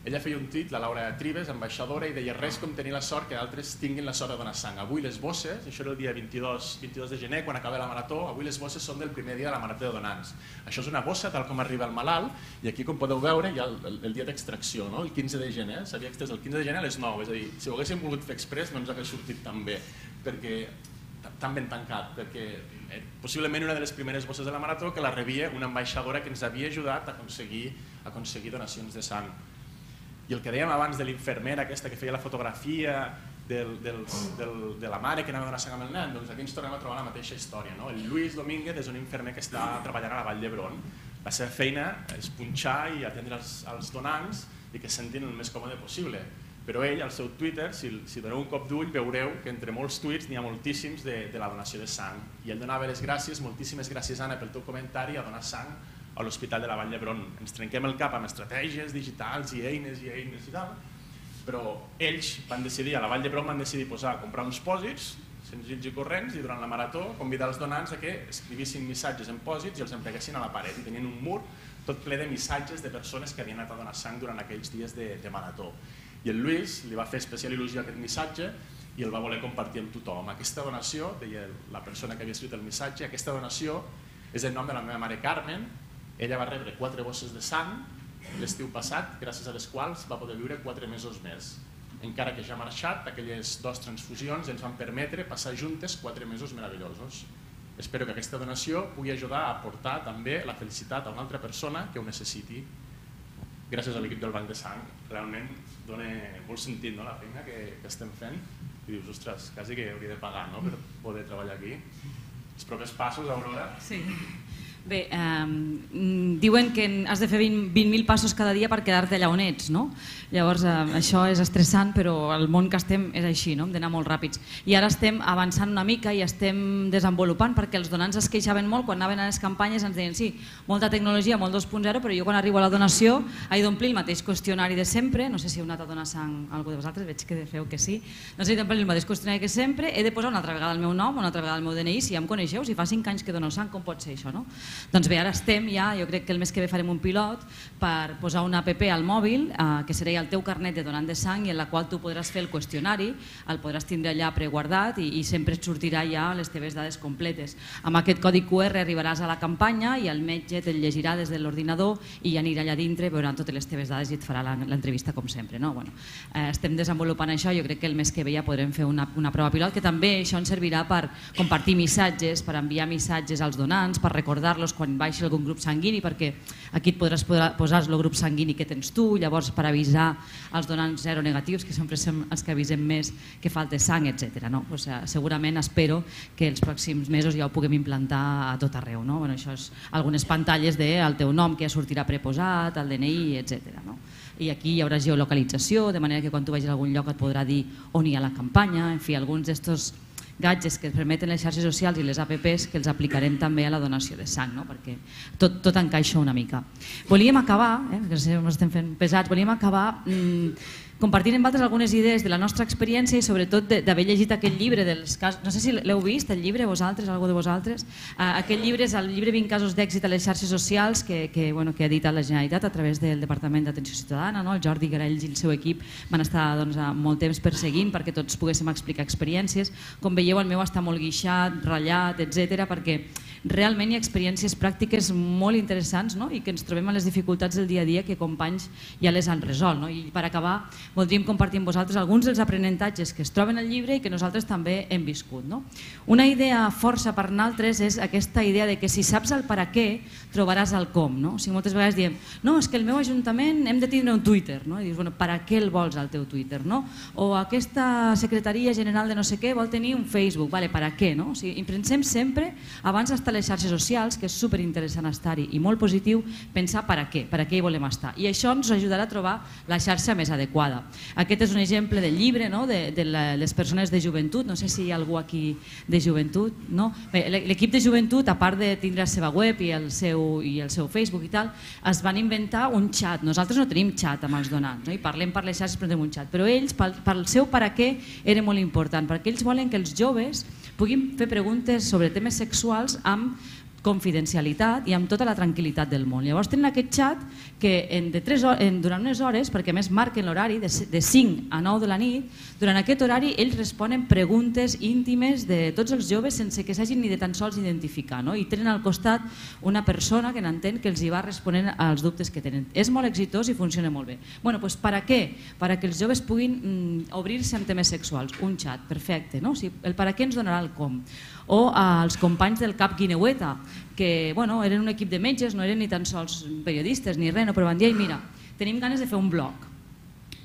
Ella feia un tuit, la Laura Trives, ambaixadora, i deia res com tenir la sort que altres tinguin la sort de donar sang. Avui les bosses, això era el dia 22 de gener, quan acaba la marató, avui les bosses són del primer dia de la marató de donants. Això és una bossa tal com arriba el malalt, i aquí, com podeu veure, hi ha el dia d'extracció, el 15 de gener, s'havia extès el 15 de gener a les 9, és a dir, si ho haguéssim volgut fer express no ens hagués sortit tan bé, perquè tan ben tancat, perquè possiblement una de les primeres bosses de la marató que la rebia una ambaixadora que ens havia ajudat a aconseguir donacions de sang. I el que dèiem abans de l'infermera aquesta que feia la fotografia de la mare que anava a donar sang amb el nen, doncs aquí ens tornem a trobar la mateixa història. El Lluís Domínguez és un infermer que està treballant a la Vall d'Hebron. La seva feina és punxar i atendre els donants i que se sentin el més còmode possible. Però ell, al seu Twitter, si doneu un cop d'ull, veureu que entre molts tuits n'hi ha moltíssims de la donació de sang. I ell donava les gràcies, moltíssimes gràcies, Anna, pel teu comentari, a donar sang a l'Hospital de la Vall d'Hebron. Ens trenquem el cap amb estratègies digitals i eines i tal, però ells van decidir, a la Vall d'Hebron van decidir comprar uns pòsits senzills i corrents i durant la marató convidar els donants a que escrivissin missatges en pòsits i els empeguessin a la paret i tenien un mur tot ple de missatges de persones que havien anat a donar sang durant aquells dies de marató. I el Lluís li va fer especial il·lusió aquest missatge i el va voler compartir amb tothom. Aquesta donació, deia la persona que havia escrit el missatge, aquesta donació és el nom de la meva mare Carmen. Ella va rebre 4 bosses de sang l'estiu passat, gràcies a les quals va poder viure 4 mesos més. Encara que ja ha marxat, aquelles 2 transfusions ens van permetre passar juntes 4 mesos meravellosos. Espero que aquesta donació pugui ajudar a aportar també la felicitat a una altra persona que ho necessiti. Gràcies a l'equip del Banc de Sang, realment dona molt sentit la feina que estem fent. I dius, ostres, quasi que hauria de pagar per poder treballar aquí. Els propers passos, Aurora? Sí. Bé, diuen que has de fer 20.000 passos cada dia per quedar-te allà on ets, no? Llavors això és estressant, però el món que estem és així, no? Hem d'anar molt ràpids. I ara estem avançant una mica i estem desenvolupant, perquè els donants es queixaven molt quan anaven a les campanyes, ens deien sí, molta tecnologia, molt 2.0, però jo quan arribo a la donació he d'omplir el mateix qüestionari de sempre, no sé si heu anat a donar sang a algú de vosaltres, veig que feu que sí, doncs he d'omplir el mateix qüestionari que sempre, he de posar una altra vegada el meu nom, una altra vegada el meu DNI, si ja em coneixeu, si fa 5 anys que dono sang, com pot ser això, no? Doncs bé, ara estem ja, jo crec que el mes que ve farem un pilot per posar una app al mòbil que seria el teu carnet de donant de sang i en la qual tu podràs fer el qüestionari, el podràs tindre allà preguardat i sempre et sortirà ja les teves dades completes. Amb aquest codi QR arribaràs a la campanya i el metge te'l llegirà des de l'ordinador i ja anirà allà dintre, veuran totes les teves dades i et farà l'entrevista com sempre. Estem desenvolupant això, jo crec que el mes que ve ja podrem fer una prova pilot que també això ens servirà per compartir missatges, per enviar missatges als donants, per recordar-los quan baixi algun grup sanguini, perquè aquí et podràs posar el grup sanguini que tens tu, llavors per avisar als donants seronegatius, que sempre som els que avisem més que falta sang, etc. Segurament espero que els pròxims mesos ja ho puguem implantar a tot arreu. Això és algunes pantalles del teu nom que ja sortirà preposat, el DNI, etc. I aquí hi haurà geolocalització, de manera que quan tu vagis a algun lloc et podrà dir on hi ha la campanya, en fi, alguns d'estos gadgets que permeten les xarxes socials i les apps que els aplicarem també a la donació de sang, perquè tot encaixa una mica. Volíem acabar, perquè ens estem fent pesats, volíem acabar compartint amb altres algunes idees de la nostra experiència i sobretot d'haver llegit aquest llibre dels casos, no sé si l'heu vist, el llibre, vosaltres, algú de vosaltres. Aquest llibre és el llibre 20 casos d'èxit a les xarxes socials que ha editat la Generalitat a través del Departament d'Atenció Ciutadana. El Jordi Garells i el seu equip van estar molt temps perseguint perquè tots poguéssim explicar experiències. Com veieu, el meu està molt guixat, ratllat, etc., perquè realment hi ha experiències pràctiques molt interessants i que ens trobem a les dificultats del dia a dia que companys ja les han resolt. I per acabar, voldríem compartir amb vosaltres alguns dels aprenentatges que es troben al llibre i que nosaltres també hem viscut. Una idea força per nosaltres és aquesta idea de que si saps el per a què, trobaràs el com. Moltes vegades diem, no, és que el meu ajuntament hem de tindre un Twitter. I dius, per a què el vols al teu Twitter? O aquesta secretaria general de no sé què vol tenir un Facebook. Per a què? I pensem sempre, abans d'estar a les xarxes socials, que és superinteressant estar-hi i molt positiu, pensar per a què hi volem estar. I això ens ajudarà a trobar la xarxa més adequada. Aquest és un exemple del llibre de les persones de joventut, no sé si hi ha algú aquí de joventut. L'equip de joventut, a part de tindre la seva web i el seu Facebook i tal, es van inventar un xat. Nosaltres no tenim xat amb els donants, i parlem per les xarxes però tenim un xat, però ells, pel seu per a què, era molt important, perquè ells volen que els joves puguin fer preguntes sobre temes sexuals amb confidencialitat i amb tota la tranquil·litat del món. Llavors tenen aquest xat que durant unes hores, perquè a més marquen l'horari de 5 a 9 de la nit, durant aquest horari ells responen preguntes íntimes de tots els joves sense que s'hagin ni de tan sols identificar, i tenen al costat una persona que n'entén que els hi va responent als dubtes que tenen. És molt exitós i funciona molt bé. Per a què? Per a que els joves puguin obrir-se amb temes sexuals. Un xat, perfecte. El per a què ens donarà el com. O als companys del CAP Guineueta, que eren un equip de metges, no eren ni tan sols periodistes ni res, però van dir, mira, tenim ganes de fer un blog.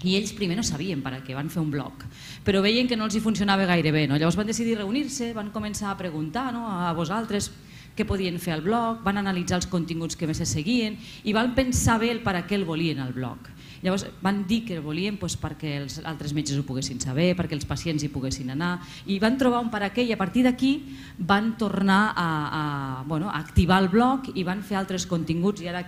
I ells primer no sabien per a què van fer un blog, però veien que no els hi funcionava gaire bé. Llavors van decidir reunir-se, van començar a preguntar a vosaltres què podien fer al blog, van analitzar els continguts que més se seguien i van pensar bé el per a què el volien al blog. Llavors van dir que el volien perquè els altres metges ho poguessin saber, perquè els pacients hi poguessin anar, i van trobar un per a què, i a partir d'aquí van tornar a activar el blog i van fer altres continguts, i ara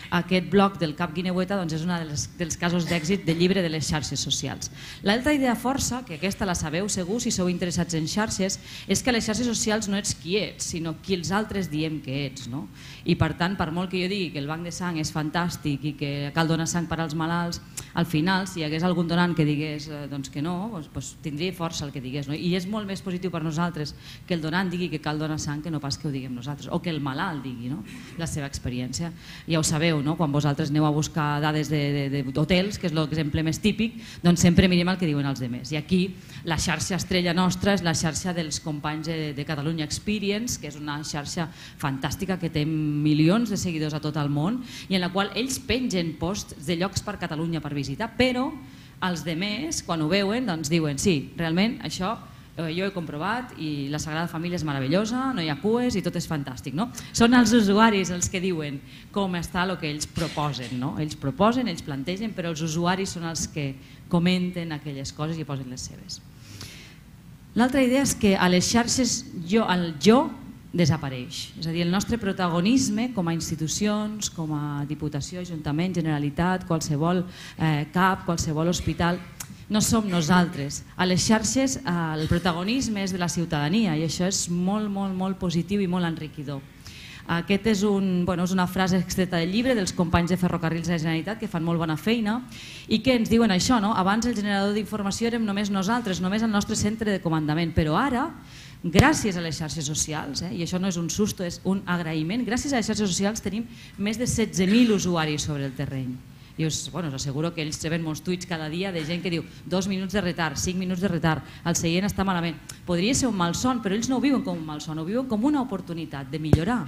aquest blog del Cap Guineueta és un dels casos d'èxit del llibre de les xarxes socials. L'altra idea força, que aquesta la sabeu segur si sou interessats en xarxes, és que a les xarxes socials no ets qui ets, sinó qui els altres diem que ets. I per tant, per molt que jo digui que el banc de sang és fantàstic i que cal donar sang per als malalts, al final, si hi hagués algun donant que digués que no, tindria força el que digués. I és molt més positiu per nosaltres que el donant digui que cal donar sang que no pas que ho diguem nosaltres, o que el malalt digui la seva experiència. Ja ho sabeu, quan vosaltres aneu a buscar dades d'hotels, que és l'exemple més típic, doncs sempre mirem el que diuen els altres. I aquí la xarxa estrella nostra és la xarxa dels companys de Catalunya Experience, que és una xarxa fantàstica que té milions de seguidors a tot el món i en la qual ells pengen posts de llocs per Catalunya per visitar, però els altres, quan ho veuen, doncs diuen sí, realment això jo he comprovat i la Sagrada Família és meravellosa, no hi ha cues i tot és fantàstic. Són els usuaris els que diuen com està el que ells proposen. Ells proposen, ells plantegen, però els usuaris són els que comenten aquelles coses i posen les seves. L'altra idea és que a les xarxes el jo desapareix. És a dir, el nostre protagonisme com a institucions, com a Diputació, Ajuntament, Generalitat, qualsevol CAP, qualsevol hospital, no som nosaltres. A les xarxes el protagonisme és de la ciutadania i això és molt, molt, molt positiu i molt enriquidor. Aquesta és una frase extreta del llibre dels companys de Ferrocarrils de la Generalitat que fan molt bona feina i que ens diuen això, abans el generador d'informació érem només nosaltres, només el nostre centre de comandament, però ara, gràcies a les xarxes socials, i això no és un susto, és un agraïment, gràcies a les xarxes socials tenim més de 16.000 usuaris sobre el terreny. I us asseguro que ells reben molts tuits cada dia de gent que diu 2 minuts de retard, 5 minuts de retard, el seient està malament. Podria ser un malson, però ells no ho viuen com un malson, ho viuen com una oportunitat de millorar,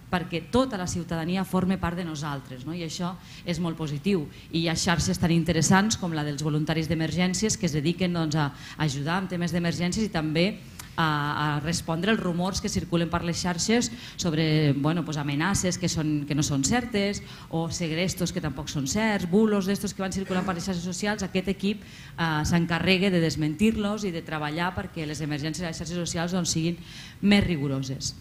perquè tota la ciutadania forma part de nosaltres, i això és molt positiu. I hi ha xarxes tan interessants com la dels voluntaris d'emergències que es dediquen a ajudar en temes d'emergències i també a respondre als rumors que circulen per les xarxes sobre amenaces que no són certes o segrestos que tampoc són certs, bulos d'estos que van circulant per les xarxes socials. Aquest equip s'encarrega de desmentir-los i de treballar perquè les emergències de les xarxes socials siguin més rigoroses.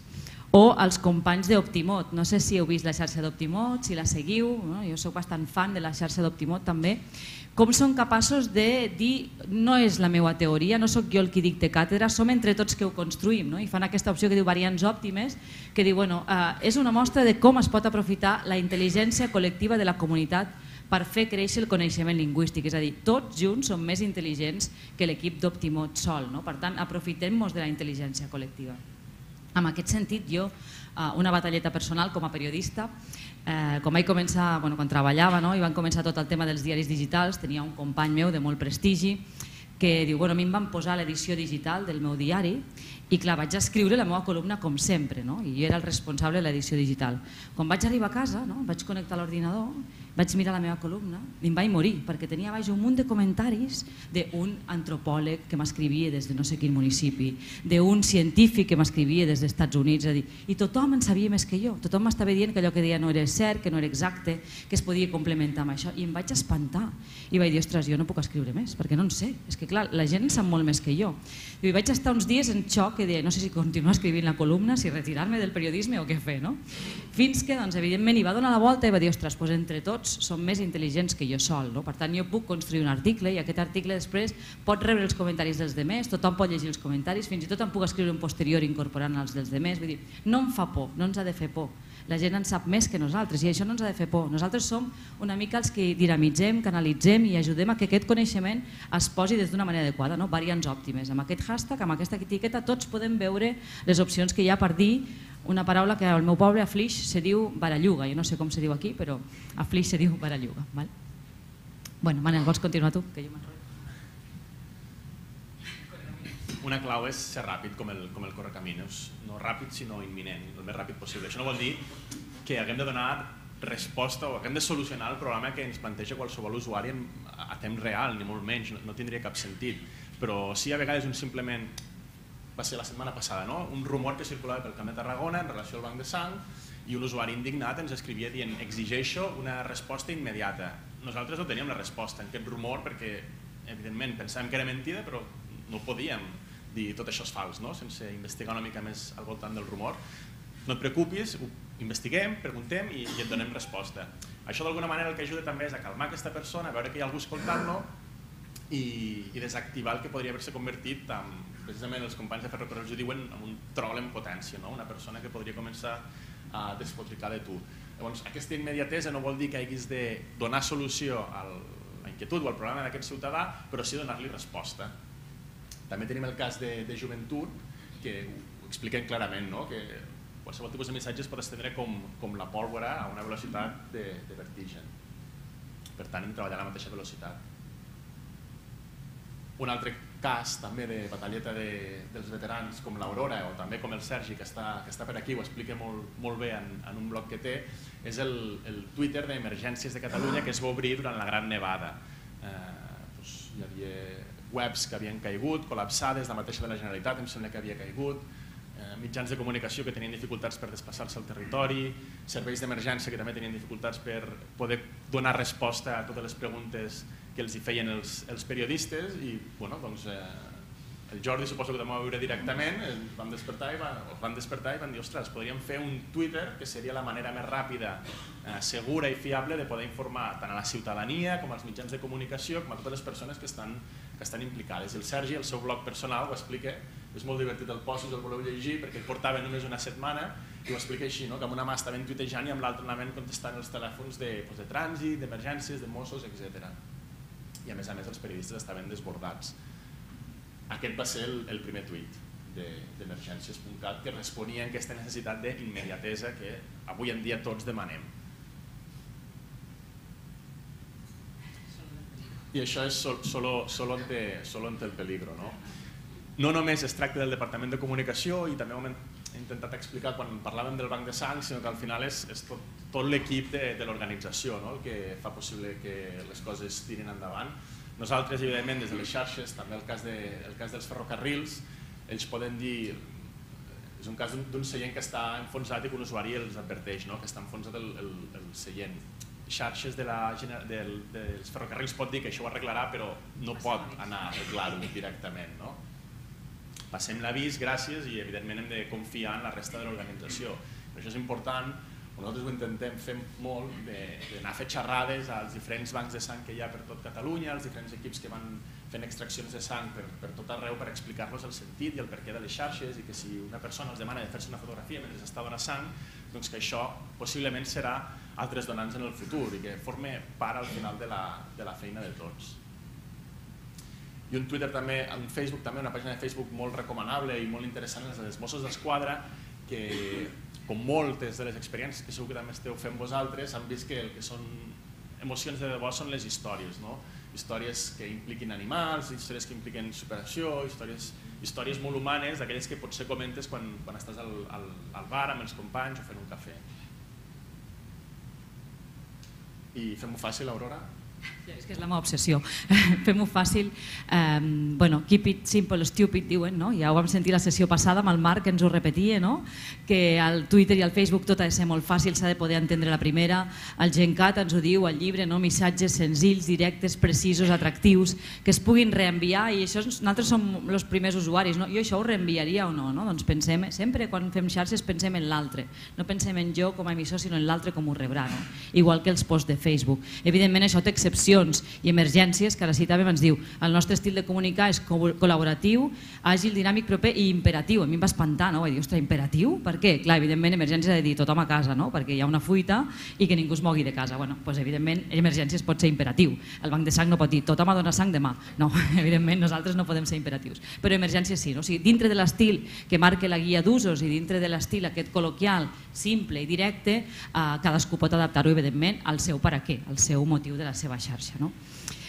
O els companys d'Optimot, no sé si heu vist la xarxa d'Optimot, si la seguiu, jo soc bastant fan de la xarxa d'Optimot també, com són capaços de dir no és la meva teoria, no sóc jo el qui dicta càtedra, som entre tots que ho construïm, i fan aquesta opció que diu variants òptimes, que diu és una mostra de com es pot aprofitar la intel·ligència col·lectiva de la comunitat per fer créixer el coneixement lingüístic, és a dir, tots junts som més intel·ligents que l'equip d'Optimot sol, per tant aprofitem-nos de la intel·ligència col·lectiva. En aquest sentit, jo, una batalleta personal com a periodista, quan vaig començar, quan treballava i van començar tot el tema dels diaris digitals, tenia un company meu de molt prestigi que diu, a mi em van posar l'edició digital del meu diari i clar, vaig escriure la meva columna com sempre, i jo era el responsable de l'edició digital. Quan vaig arribar a casa, vaig connectar l'ordinador, vaig mirar la meva columna i em vaig morir perquè tenia baix un munt de comentaris d'un antropòleg que m'escrivia des de no sé quin municipi, d'un científic que m'escrivia des dels Estats Units, i tothom en sabia més que jo, tothom m'estava dient que allò que deia no era cert, que no era exacte, que es podia complementar amb això, i em vaig espantar i vaig dir, ostres, jo no puc escriure més perquè no en sé, és que clar, la gent en sap molt més que jo. I vaig estar uns dies en xoc que deia, no sé si continuar escrivint la columna, si retirar-me del periodisme o què fer, fins que, evidentment, hi va donar la volta i va dir, ostres, entre tots són més intel·ligents que jo sol, per tant jo puc construir un article i aquest article després pot rebre els comentaris dels demés, tothom pot llegir els comentaris, fins i tot em puc escriure un posterior incorporant els dels demés, vull dir, no em fa por, no ens ha de fer por, la gent en sap més que nosaltres i això no ens ha de fer por, nosaltres som una mica els que dinamitzem, canalitzem i ajudem a que aquest coneixement es posi des d'una manera adequada, variants òptimes, amb aquest hashtag, amb aquesta etiqueta tots podem veure les opcions que hi ha per dir una paraula que al meu poble, a Flix, se diu baralluga. Jo no sé com se diu aquí, però a Flix se diu baralluga. Bueno, Manel, vols continuar tu? Que jo m'enrotllo. Una clau és ser ràpid com el Correcaminos. No ràpid, sinó imminent, el més ràpid possible. Això no vol dir que haguem de donar resposta o que hem de solucionar el problema que ens planteja qualsevol usuari a temps real, ni molt menys, no tindria cap sentit. Però sí, a vegades simplement, va ser la setmana passada, no? Un rumor que circulava pel Camp de Tarragona en relació al banc de sang i un usuari indignat ens escrivia dient exigeixo una resposta immediata. Nosaltres no teníem la resposta en aquest rumor perquè evidentment pensàvem que era mentida però no podíem dir tot això és fals, no? Sense investigar una mica més al voltant del rumor. No et preocupis, ho investiguem, preguntem i et donem resposta. Això d'alguna manera el que ajuda també és a calmar aquesta persona, a veure que hi ha algú escoltant-lo i desactivar el que podria haver-se convertit en, precisament els companys de Ferrocarrils ho diuen, en un troll en potència, no? Una persona que podria començar a despotricar de tu. Llavors, aquesta immediatesa no vol dir que hagis de donar solució a la inquietud o al problema d'aquest ciutadà, però sí donar-li resposta. També tenim el cas de joventut, que ho expliquen clarament, no? Que qualsevol tipus de missatge es pot estendre com la pólvora a una velocitat de vertigen. Per tant, hem de treballar a la mateixa velocitat. Un altre cas també de batalleta dels veterans com l'Aurora o també com el Sergi que està per aquí, ho explica molt bé en un blog que té, és el Twitter d'Emergències de Catalunya que es va obrir durant la Gran Nevada. Hi havia webs que havien caigut, col·lapsades, la mateixa de la Generalitat em sembla que havia caigut, mitjans de comunicació que tenien dificultats per desplaçar-se al territori, serveis d'emergència que també tenien dificultats per poder donar resposta a totes les preguntes que els hi feien els periodistes i el Jordi suposo que també va veure directament, els van despertar i van dir ostres, podríem fer un Twitter que seria la manera més ràpida, segura i fiable de poder informar tant a la ciutadania com als mitjans de comunicació com a totes les persones que estan implicades. I el Sergi, el seu blog personal, ho explica, és molt divertit el post si us el voleu llegir perquè el portava només una setmana i ho explica així, que amb una mà estaven tuitejant i amb l'altra anaven contestant els telèfons de trànsit, d'emergències, de Mossos, etc. I a més els periodistes estaven desbordats. Aquest va ser el primer tuit d'emergències.cat que responia a aquesta necessitat d'immediatesa que avui en dia tots demanem. I això és solo ante el peligro, no? No només es tracta del Departament de Comunicació i també ho hem intentat explicar quan parlàvem del Banc de Sang, sinó que al final és tot l'equip de l'organització el que fa possible que les coses tirin endavant. Nosaltres, evidentment, des de les xarxes, també el cas dels ferrocarrils, ells poden dir, és un cas d'un seient que està enfonsat i que un usuari els adverteix que està enfonsat el seient. Xarxes dels ferrocarrils pot dir que això ho arreglarà, però no pot anar a arreglar-ho directament. Passem l'avís, gràcies, i evidentment hem de confiar en la resta de l'organització. Per això és important, nosaltres ho intentem fer molt, d'anar a fer xerrades als diferents bancs de sang que hi ha per tot Catalunya, als diferents equips que van fent extraccions de sang per tot arreu per explicar-los el sentit i el perquè de les xarxes i que si una persona els demana de fer-se una fotografia mentre està donant sang, doncs que això possiblement serà altres donants en el futur i que forme part al final de la feina de tots. I un Twitter també, un Facebook també, una pàgina de Facebook molt recomanable i molt interessant és els Mossos d'Esquadra, que com moltes de les experiències que segur que també esteu fent vosaltres, han vist que el que són emocions de debò són les històries, històries que impliquin animals, històries que impliquen superació, històries molt humanes, d'aquelles que potser comentes quan estàs al bar amb els companys o fent un cafè. I fem-ho fàcil, Aurora? És que és la meva obsessió. Fem-ho fàcil. Keep it simple, stupid, diuen, no? Ja ho vam sentir la sessió passada amb el Marc que ens ho repetia, no? Que al Twitter i al Facebook tot ha de ser molt fàcil, s'ha de poder entendre la primera. El GenCat ens ho diu al llibre, no? Missatges senzills, directes, precisos, atractius, que es puguin reenviar i això nosaltres som els primers usuaris, no? Jo això ho reenviaria o no? Doncs pensem, sempre quan fem xarxes pensem en l'altre, no pensem en jo com a emissor sinó en l'altre com ho rebrà, no? Igual que els posts de Facebook. Evidentment això té excepcions i emergències, que ara citàvem, ens diu el nostre estil de comunicar és col·laboratiu, àgil, dinàmic, proper i imperatiu. A mi em va espantar, no? Vaig dir, ostres, imperatiu? Per què? Clar, evidentment, emergències ha de dir tothom a casa, no? Perquè hi ha una fuita i que ningú es mogui de casa. Bueno, doncs evidentment, emergències pot ser imperatiu. El banc de sang no pot dir tothom ha donat sang demà. No, evidentment, nosaltres no podem ser imperatius. Però emergències sí, no? O sigui, dintre de l'estil que marca la guia d'usos i dintre de l'estil aquest col·loquial, simple i directe, cadascú pot adaptar-ho, evidentment, al seu per a què, al seu motiu de la seva xarxa. No?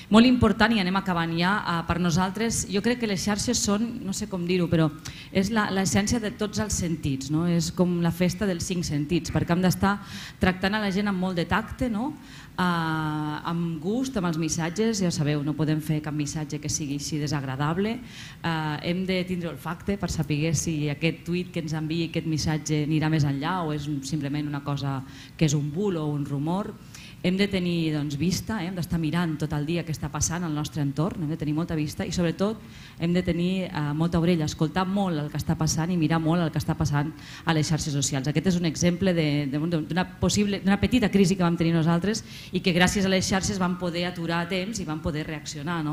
molt important, i anem acabant ja, per nosaltres, jo crec que les xarxes són, no sé com dir-ho, però és l'essència de tots els sentits, no? És com la festa dels 5 sentits, perquè hem d'estar tractant a la gent amb molt de tacte, no? Amb gust, amb els missatges, ja sabeu, no podem fer cap missatge que sigui així desagradable, hem de tindre olfacte per saber si aquest tuit que ens enviï aquest missatge anirà més enllà o és simplement una cosa que és un bull o un rumor. Hem de tenir vista, hem d'estar mirant tot el dia què està passant al nostre entorn, hem de tenir molta vista i sobretot hem de tenir molta orella, escoltar molt el que està passant i mirar molt el que està passant a les xarxes socials. Aquest és un exemple d'una petita crisi que vam tenir nosaltres i que gràcies a les xarxes vam poder aturar a temps i vam poder reaccionar.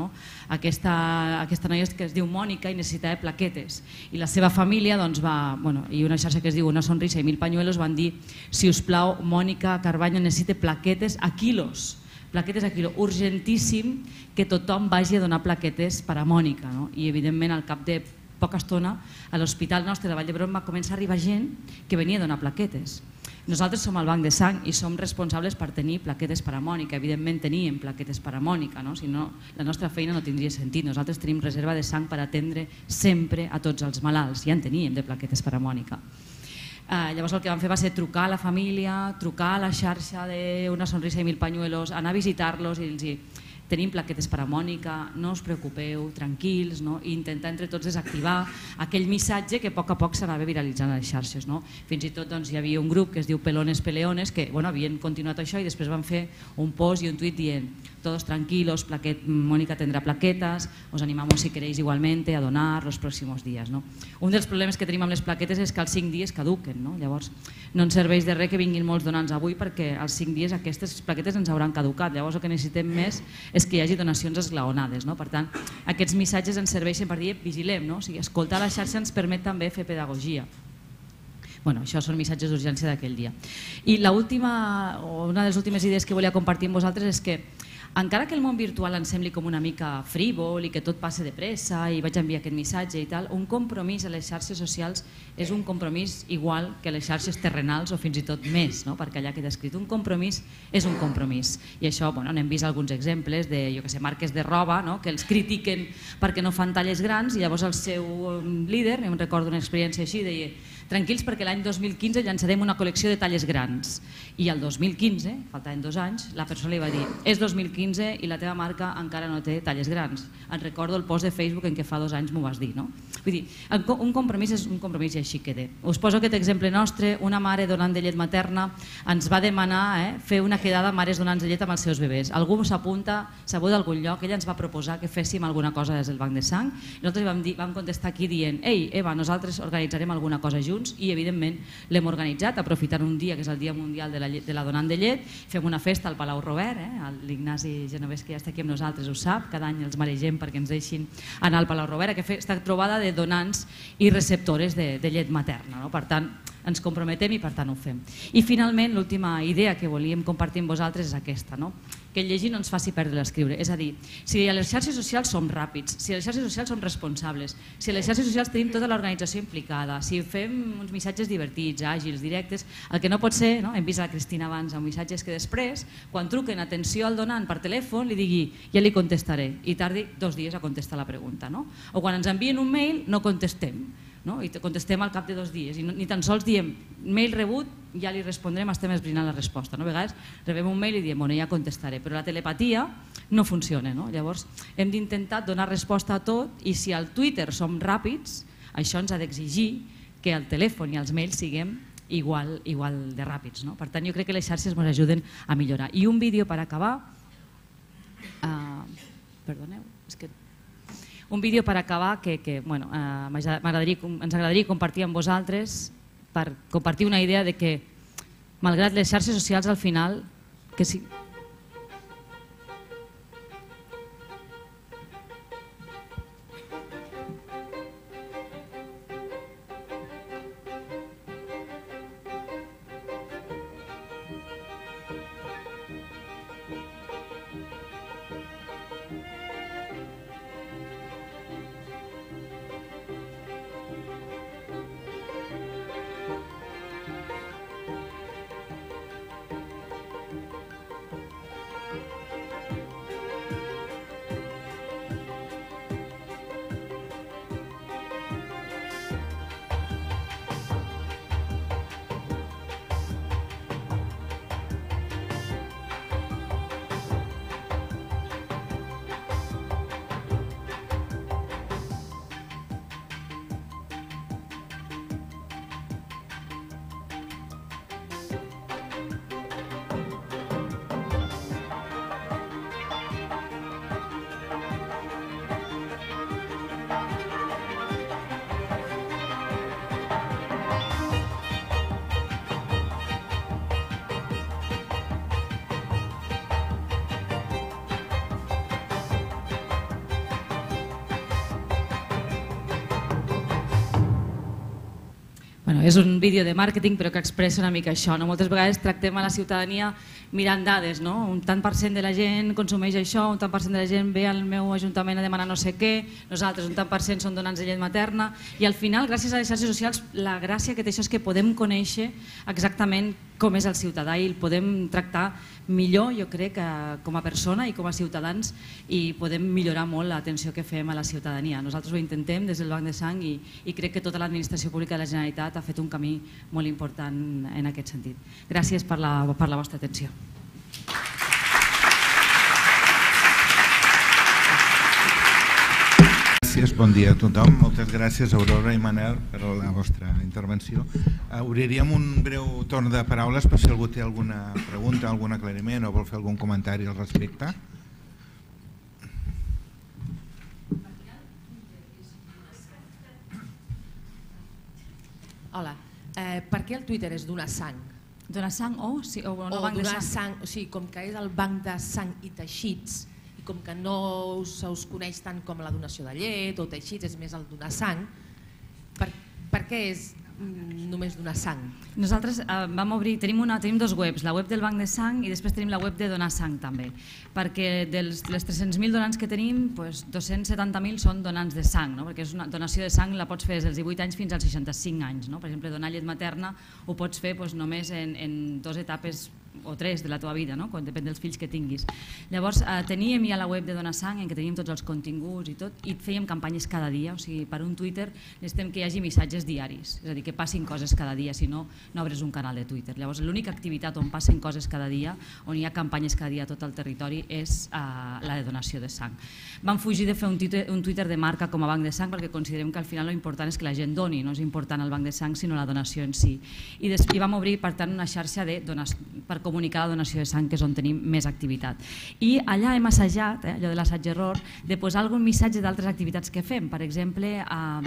Aquesta noia que es diu Mònica i necessitava plaquetes i la seva família i una xarxa que es diu Una sonrisa i 1000 pañuelos van dir: si us plau, Mònica Carbaño necessita plaquetes a quilos, urgentíssim que tothom vagi a donar plaquetes per a Mònica. I evidentment al cap de poca estona a l'hospital nostre de Vall d'Hebron va començar a arribar gent que venia a donar plaquetes. Nosaltres som el banc de sang i som responsables per tenir plaquetes per a Mònica. Evidentment teníem plaquetes per a Mònica, si no la nostra feina no tindria sentit. Nosaltres tenim reserva de sang per atendre sempre a tots els malalts, ja en teníem de plaquetes per a Mònica. Llavors el que vam fer va ser trucar a la família, trucar a la xarxa d'Una sonrisa i 1000 pañuelos, anar a visitar-los i dir: tenim plaquetes per a Mònica, no us preocupeu, tranquils, i intentar entre tots desactivar aquell missatge que a poc s'anava viralitzant a les xarxes. Fins i tot hi havia un grup que es diu Pelones Peleones que havien continuat això i després van fer un post i un tuit dient: todos tranquilos, Mónica tendrá plaquetas, os animamos si queréis igualmente a donar los próximos días. Un dels problemes que tenim amb les plaquetes és que als 5 dies caduquen, llavors no ens serveix de res que vinguin molts donants avui perquè als 5 dies aquestes plaquetes ens hauran caducat, llavors el que necessitem més és que hi hagi donacions esglaonades. Per tant, aquests missatges ens serveixen per dir: vigilem, escoltar la xarxa ens permet també fer pedagogia. Això són missatges d'urgència d'aquell dia. I una de les últimes idees que volia compartir amb vosaltres és que encara que el món virtual ens sembli com una mica frívol i que tot passa de pressa i vaig enviar aquest missatge i tal, un compromís a les xarxes socials és un compromís igual que les xarxes terrenals o fins i tot més, perquè allà queda escrit. Un compromís és un compromís. I això n'hem vist alguns exemples de marques de roba que els critiquen perquè no fan talles grans i llavors el seu líder, em recordo una experiència així, deia: tranquils perquè l'any 2015 llançarem una col·lecció de talles grans. I el 2015, faltaven 2 anys, la persona li va dir: és 2015 i la teva marca encara no té talles grans. En recordo el post de Facebook en què fa 2 anys m'ho vas dir. Vull dir, un compromís és un compromís i així queda. Us poso aquest exemple nostre. Una mare donant de llet materna ens va demanar fer una quedada mares donants de llet amb els seus bebès. Algú s'apunta, sabeu d'algun lloc, ella ens va proposar que féssim alguna cosa des del banc de sang. Nosaltres vam contestar aquí dient: ei, Eva, nosaltres organitzarem alguna cosa junts i evidentment l'hem organitzat, aprofitant un dia que és el Dia Mundial de la Donant de Llet. Fem una festa al Palau Robert, l'Ignasi Genovès que ja està aquí amb nosaltres ho sap, cada any els maregem perquè ens deixin anar al Palau Robert, aquesta trobada de donants i receptores de llet materna. Per tant, ens comprometem i per tant ho fem. I finalment, l'última idea que volíem compartir amb vosaltres és aquesta, que el llegir no ens faci perdre l'escriure. És a dir, si a les xarxes socials som ràpids, si a les xarxes socials som responsables, si a les xarxes socials tenim tota l'organització implicada, si fem uns missatges divertits, àgils, directes, el que no pot ser, hem vist a la Cristina abans amb missatges que després, quan truquen atenció al donant per telèfon, li digui: ja li contestaré, i tardi 2 dies a contestar la pregunta. O quan ens envien un mail no contestem, i contestem al cap de 2 dies i ni tan sols diem mail rebut, ja li respondrem, estem esbrinant la resposta. A vegades rebem un mail i diem ja contestaré, però la telepatia no funciona. Llavors hem d'intentar donar resposta a tot i si al Twitter som ràpids, això ens ha d'exigir que al telèfon i als mails siguem igual de ràpids. Per tant, jo crec que les xarxes ens ajuden a millorar. I un vídeo per acabar, perdoneu, és que un vídeo per acabar que ens agradaria compartir amb vosaltres per compartir una idea de que malgrat les xarxes socials al final que sí. És un vídeo de màrqueting però que expressa una mica això. Moltes vegades tractem a la ciutadania mirant dades, un tant per cent de la gent consumeix això, un tant per cent de la gent ve al meu ajuntament a demanar no sé què, nosaltres un tant per cent són donants de llet materna, i al final, gràcies a les xarxes socials, la gràcia que té això és que podem conèixer exactament com és el ciutadà i el podem tractar millor, jo crec, com a persona i com a ciutadans, i podem millorar molt l'atenció que fem a la ciutadania. Nosaltres ho intentem des del Banc de Sang i crec que tota l'administració pública de la Generalitat ha fet un camí molt important en aquest sentit. Gràcies per la vostra atenció. Bon dia a tothom. Moltes gràcies, Aurora i Manel, per la vostra intervenció. Obriríem un breu torn de paraules per si algú té alguna pregunta, algun aclariment o vol fer algun comentari al respecte. Hola. Per què el Twitter és donar sang? Donar sang o no banc de sang? O sigui, com que és el banc de sang i teixits, i com que no se us coneix tant com la donació de llet o teixits, és més el donar sang, per què és només donar sang? Nosaltres tenim dos webs, la web del Banc de Sang i després tenim la web de Donar Sang també, perquè de les 300.000 donants que tenim, 270.000 són donants de sang, perquè és una donació de sang, la pots fer des dels 18 anys fins als 65 anys. Per exemple, donar llet materna ho pots fer només en 2 etapes o 3 de la teva vida, depèn dels fills que tinguis. Llavors teníem ja la web de Donar Sang en què teníem tots els continguts i tot, i fèiem campanyes cada dia, o sigui, per un Twitter necessitem que hi hagi missatges diaris, és a dir, que passin coses cada dia, si no, no obres un canal de Twitter. Llavors l'única activitat on passen coses cada dia, on hi ha campanyes cada dia a tot el territori, és la de donació de sang. Vam fugir de fer un Twitter de marca com a Banc de Sang perquè considerem que al final l'important és que la gent doni, no és important el Banc de Sang sinó la donació en si. I vam obrir per tant una xarxa per comunicar la donació de sang, que és on tenim més activitat. I allà hem assajat, allò de l'assaig-error, de posar algun missatge d'altres activitats que fem, per exemple,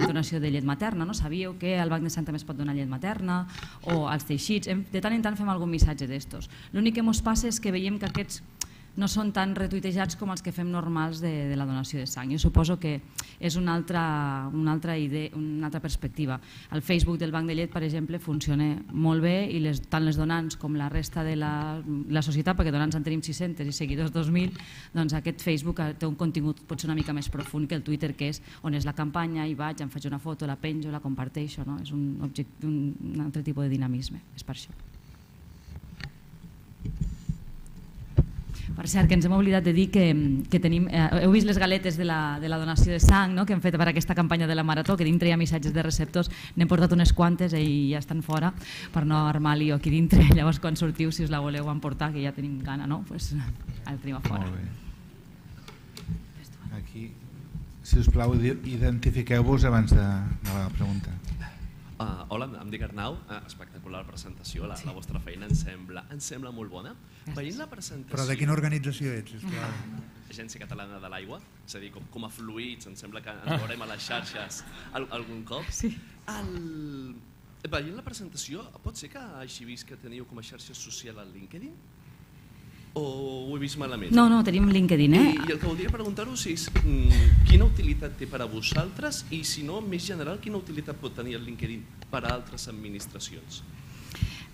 donació de llet materna. Sabíeu que al Banc de Sang també es pot donar llet materna o als teixits, de tant en tant fem algun missatge d'estos. L'únic que ens passa és que veiem que aquests no són tan retuitejats com els que fem normals de la donació de sang. Jo suposo que és una altra idea, una altra perspectiva. El Facebook del Banc de Llet, per exemple, funciona molt bé i tant les donants com la resta de la societat, perquè donants en tenim 600 i seguidors 2.000, doncs aquest Facebook té un contingut potser una mica més profund que el Twitter, que és on és la campanya, hi vaig, em faig una foto, la penjo, la comparteixo, és un altre tipus de dinamisme, és per això. Per cert, que ens hem oblidat de dir que tenim... Heu vist les galetes de la donació de sang que hem fet per aquesta campanya de la Marató, que dintre hi ha missatges de receptors, n'hem portat unes quantes i ja estan fora per no armar lío aquí dintre. Llavors quan sortiu, si us la voleu emportar, que ja tenim gana, doncs la tenim a fora. Molt bé. Aquí, si us plau, identifiqueu-vos abans de la pregunta. Hola, em dic Arnau, espectacular presentació, la vostra feina em sembla molt bona. Veient la presentació... Però de quina organització ets? Agència Catalana de l'Aigua, és a dir, com a fluïts, em sembla que ens veurem a les xarxes algun cop. Sí. Veient la presentació, pot ser que hagi vist que teniu com a xarxa social al LinkedIn? O ho he vist malament? No, tenim LinkedIn. I el que voldria preguntar-vos és quina utilitat té per a vosaltres i, si no, més general, quina utilitat pot tenir el LinkedIn per a altres administracions?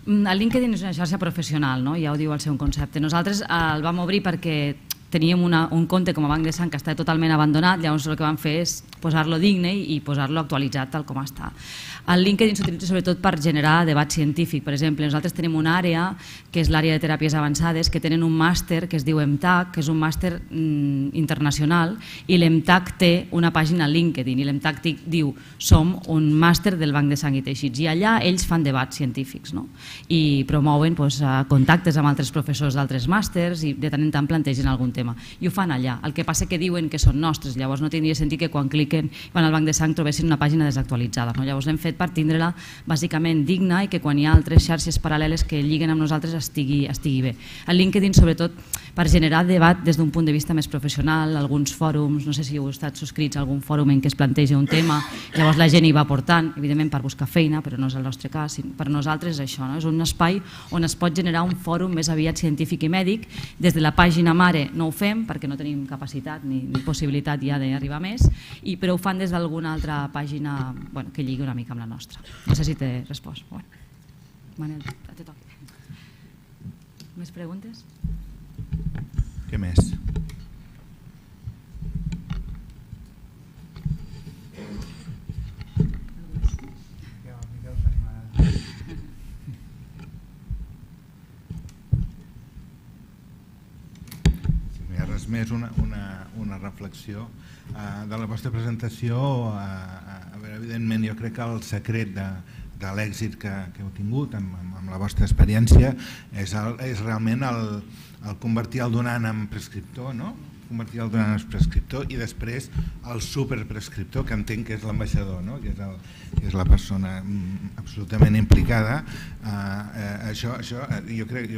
El LinkedIn és una xarxa professional, ja ho diu el seu concepte. Nosaltres el vam obrir perquè teníem un compte com a Banc de Sang que estava totalment abandonat, llavors el que vam fer és posar-lo digne i posar-lo actualitzat tal com està. El LinkedIn s'utilitza sobretot per generar debat científic. Per exemple, nosaltres tenim una àrea, que és l'àrea de teràpies avançades, que tenen un màster que es diu EMTAC, que és un màster internacional, i l'EMTAC té una pàgina a LinkedIn, i l'EMTAC diu som un màster del Banc de Sang i Teixits, i allà ells fan debats científics i promouen contactes amb altres professors d'altres màsters i de tant en tant plantegen algun tema. I ho fan allà. El que passa que diuen que són nostres, llavors no tindria sentit que quan cliquen van al Banc de Sang trobessin una pàgina desactualitzada. Llavors l'hem fet per tindre-la bàsicament digna i que quan hi ha altres xarxes paral·leles que lliguen amb nosaltres estigui bé. El LinkedIn sobretot per generar debat des d'un punt de vista més professional, alguns fòrums, no sé si heu estat subscrits a algun fòrum en què es planteja un tema, llavors la gent hi va portant, evidentment per buscar feina, però no és el nostre cas, per nosaltres és això, és un espai on es pot generar un fòrum més aviat científic i mèdic, des de la pàgina mare no no ho fem perquè no tenim capacitat ni possibilitat ja d'arribar més, però ho fan des d'alguna altra pàgina que lligui una mica amb la nostra. No sé si t'he respost. Manel, te toca. Més preguntes? Què més? Més una reflexió de la vostra presentació. Evidentment, jo crec que el secret de l'èxit que heu tingut amb la vostra experiència és realment el convertir el donant en prescriptor, no? Convertir el donant en prescriptor i després el superprescriptor, que entenc que és l'ambaixador, no? Que és la persona absolutament implicada. Jo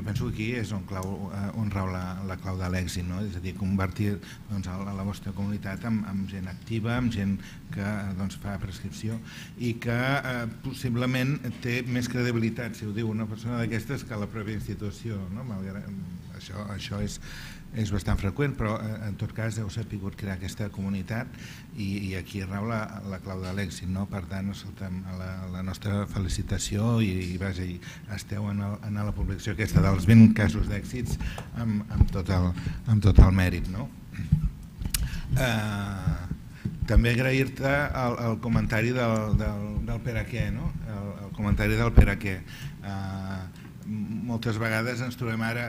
penso que aquí és on rau la clau de l'èxit, no? És a dir, convertir la vostra comunitat en gent activa, en gent que fa prescripció i que possiblement té més credibilitat, si ho diu una persona d'aquestes, que la pròpia institució, no? Això és bastant freqüent, però en tot cas heu sabut crear aquesta comunitat i aquí rau la clau de l'èxit, no? Per tant, la nostra felicitació i esteu en la publicació aquesta dels 20 casos d'èxits amb tot el mèrit, no? També agrair-te el comentari del per a què, no? El comentari del per a què. Moltes vegades ens trobem ara,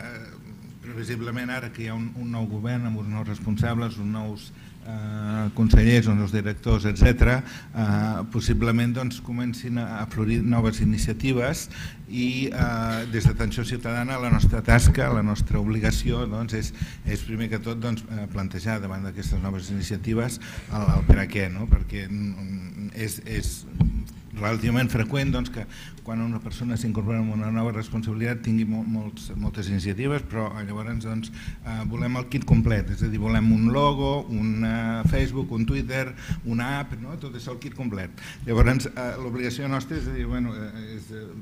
previsiblement ara que hi ha un nou govern amb uns nous responsables, uns nous consellers, uns nous directors, etc., possiblement comencin a florir noves iniciatives i des d'Atenció Ciutadana la nostra tasca, la nostra obligació és primer que tot plantejar davant d'aquestes noves iniciatives el per a què, perquè és relativament freqüent que quan una persona s'incorpora en una nova responsabilitat tingui moltes iniciatives, però llavors volem el kit complet, és a dir, volem un logo, un Facebook, un Twitter, una app, tot és el kit complet. Llavors l'obligació nostra és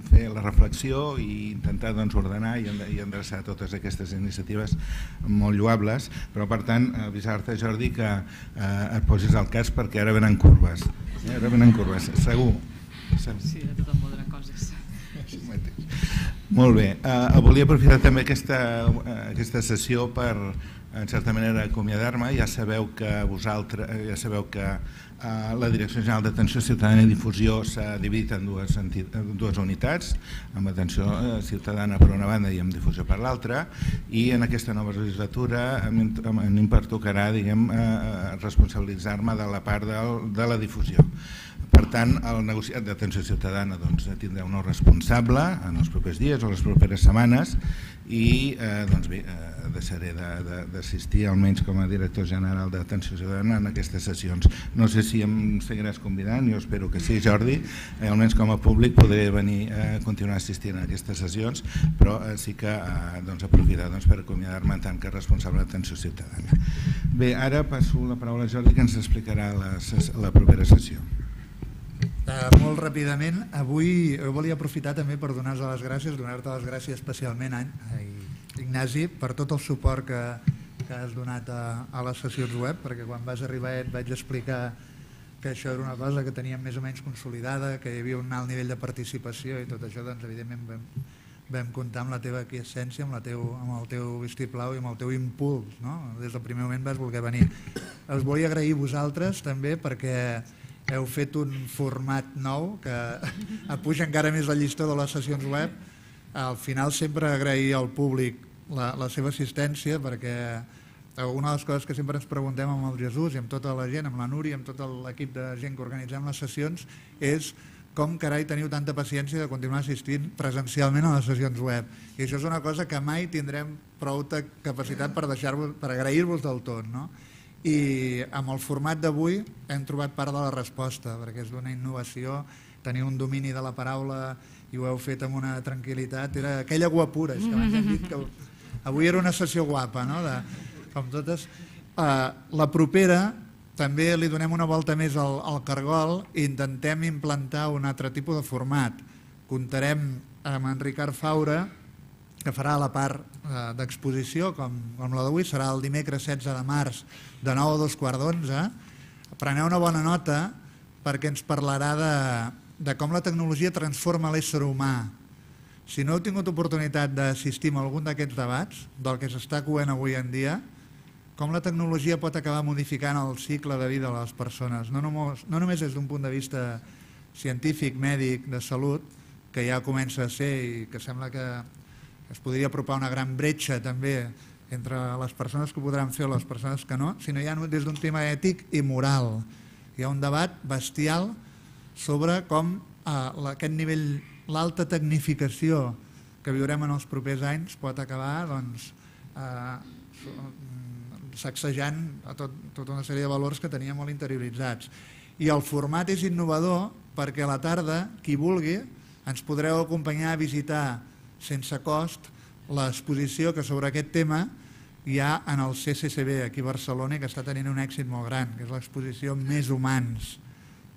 fer la reflexió i intentar ordenar i endreçar totes aquestes iniciatives molt lloables, però per tant avisar-te, Jordi, que et posis al cas perquè ara venen curves, segur. Sí, de tot un munt de coses. Molt bé, volia aprofitar també aquesta sessió per, en certa manera, acomiadar-me. Ja sabeu que la Direcció General d'Atenció Ciutadana i Difusió s'ha dividit en dues unitats, amb Atenció Ciutadana per una banda i amb Difusió per l'altra, i en aquesta nova legislatura a mi em pertocarà responsabilitzar-me de la part de la difusió. Per tant, el negociat d'Atenció Ciutadana tindrà un nou responsable en els propers dies o les properes setmanes i deixaré d'assistir almenys com a director general d'Atenció Ciutadana en aquestes sessions. No sé si em seguiràs convidant, jo espero que sí, Jordi, almenys com a públic podré venir a continuar assistint a aquestes sessions, però sí que aprofitar per acomiadar-me en tant que responsable d'Atenció Ciutadana. Bé, ara passo la paraula a Jordi que ens explicarà la propera sessió. Molt ràpidament, avui volia aprofitar també per donar-te les gràcies especialment a Ignasi per tot el suport que has donat a les sessions web, perquè quan vas arribar et vaig explicar que això era una cosa que teníem més o menys consolidada, que hi havia un alt nivell de participació i tot això, evidentment vam comptar amb la teva aquiescència, amb el teu vistiplau i amb el teu impuls. Des del primer moment vas voler venir. Us volia agrair a vosaltres també perquè heu fet un format nou que puja encara més la llista de les sessions web. Al final sempre agrair al públic la seva assistència, perquè una de les coses que sempre ens preguntem amb el Jesús i amb tota la gent, amb la Núria, amb tot l'equip de gent que organitzem les sessions, és com carai teniu tanta paciència de continuar assistint presencialment a les sessions web. I això és una cosa que mai tindrem prou capacitat per agrair-vos del tot, no? I amb el format d'avui hem trobat part de la resposta, perquè és d'una innovació, teniu un domini de la paraula i ho heu fet amb una tranquil·litat, era aquella guapura, és que abans hem dit que avui era una sessió guapa, com totes. La propera també li donem una volta més al cargol i intentem implantar un altre tipus de format. Comptarem amb en Ricard Faura, que farà la part d'exposició com la d'avui, serà el dimecres 16 de març de 9 a 2:15. Preneu una bona nota perquè ens parlarà de com la tecnologia transforma l'ésser humà. Si no heu tingut oportunitat d'assistir a algun d'aquests debats, del que s'està coent avui en dia, com la tecnologia pot acabar modificant el cicle de vida de les persones, no només des d'un punt de vista científic, mèdic, de salut, que ja comença a ser i que sembla que es podria apropar una gran bretxa també entre les persones que ho podran fer o les persones que no, sinó ja des d'un tema ètic i moral. Hi ha un debat bestial sobre com aquest nivell, l'alta tecnificació que viurem en els propers anys pot acabar sacsejant tota una sèrie de valors que teníem molt interioritzats. I el format és innovador perquè a la tarda, qui vulgui, ens podreu acompanyar a visitar sense cost l'exposició que sobre aquest tema hi ha en el CCCB aquí a Barcelona i que està tenint un èxit molt gran, que és l'exposició Més Humans,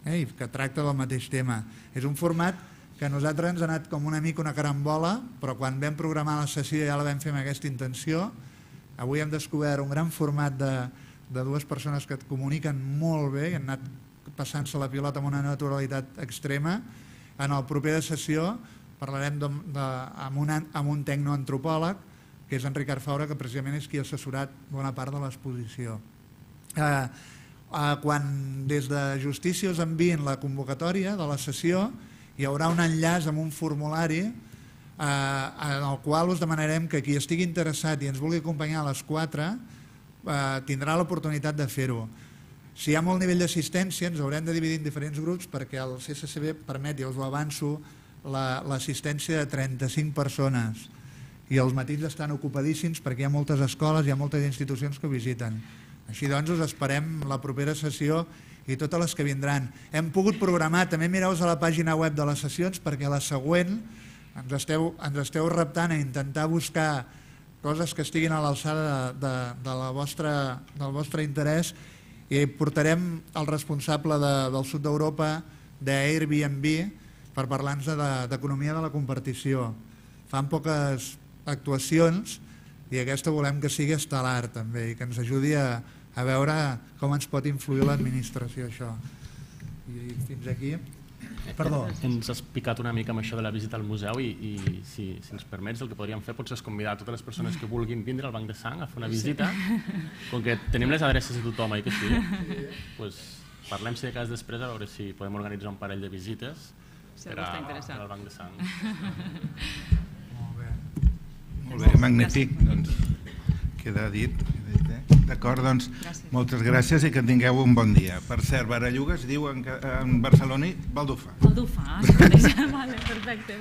i que tracta del mateix tema. És un format que a nosaltres ens ha anat com una mica una carambola, però quan vam programar la sessió ja la vam fer amb aquesta intenció. Avui hem descobert un gran format de dues persones que et comuniquen molt bé i han anat passant-se la pilota amb una naturalitat extrema. En la propera sessió parlarem amb un tecnoantropòleg, que és en Ricard Faura, que precisament és qui ha assessorat bona part de l'exposició. Quan des de Justícia us envien la convocatòria de la sessió, hi haurà un enllaç amb un formulari en el qual us demanarem que qui estigui interessat i ens vulgui acompanyar a les 4 tindrà l'oportunitat de fer-ho. Si hi ha molt nivell d'assistència ens haurem de dividir en diferents grups perquè el CCCB permet, i us ho avanço, l'assistència de 35 persones i els matins estan ocupadíssims perquè hi ha moltes escoles, hi ha moltes institucions que ho visiten. Així doncs us esperem la propera sessió i totes les que vindran. Hem pogut programar, també mireu-vos a la pàgina web de les sessions perquè a la següent ens esteu reptant a intentar buscar coses que estiguin a l'alçada del vostre interès i portarem el responsable del sud d'Europa d'Airbnb per parlar-nos d'economia de la compartició. Fan poques actuacions i aquesta volem que sigui estel·lar també i que ens ajudi a veure com ens pot influir l'administració això. I fins aquí. Perdó. Ens has picat una mica amb això de la visita al museu i si ens permets el que podríem fer potser és convidar a totes les persones que vulguin vindre al Banc de Sang a fer una visita. Com que tenim les adreces de tothom, que sí? Parlem si de cas després a veure si podem organitzar un parell de visites per al Banc de Sang. Molt bé, magnífic. Doncs queda dit. D'acord, doncs moltes gràcies i que tingueu un bon dia. Per cert, Baralluga es diu en barceloní Baldufa. Baldufa, vale, perfecte.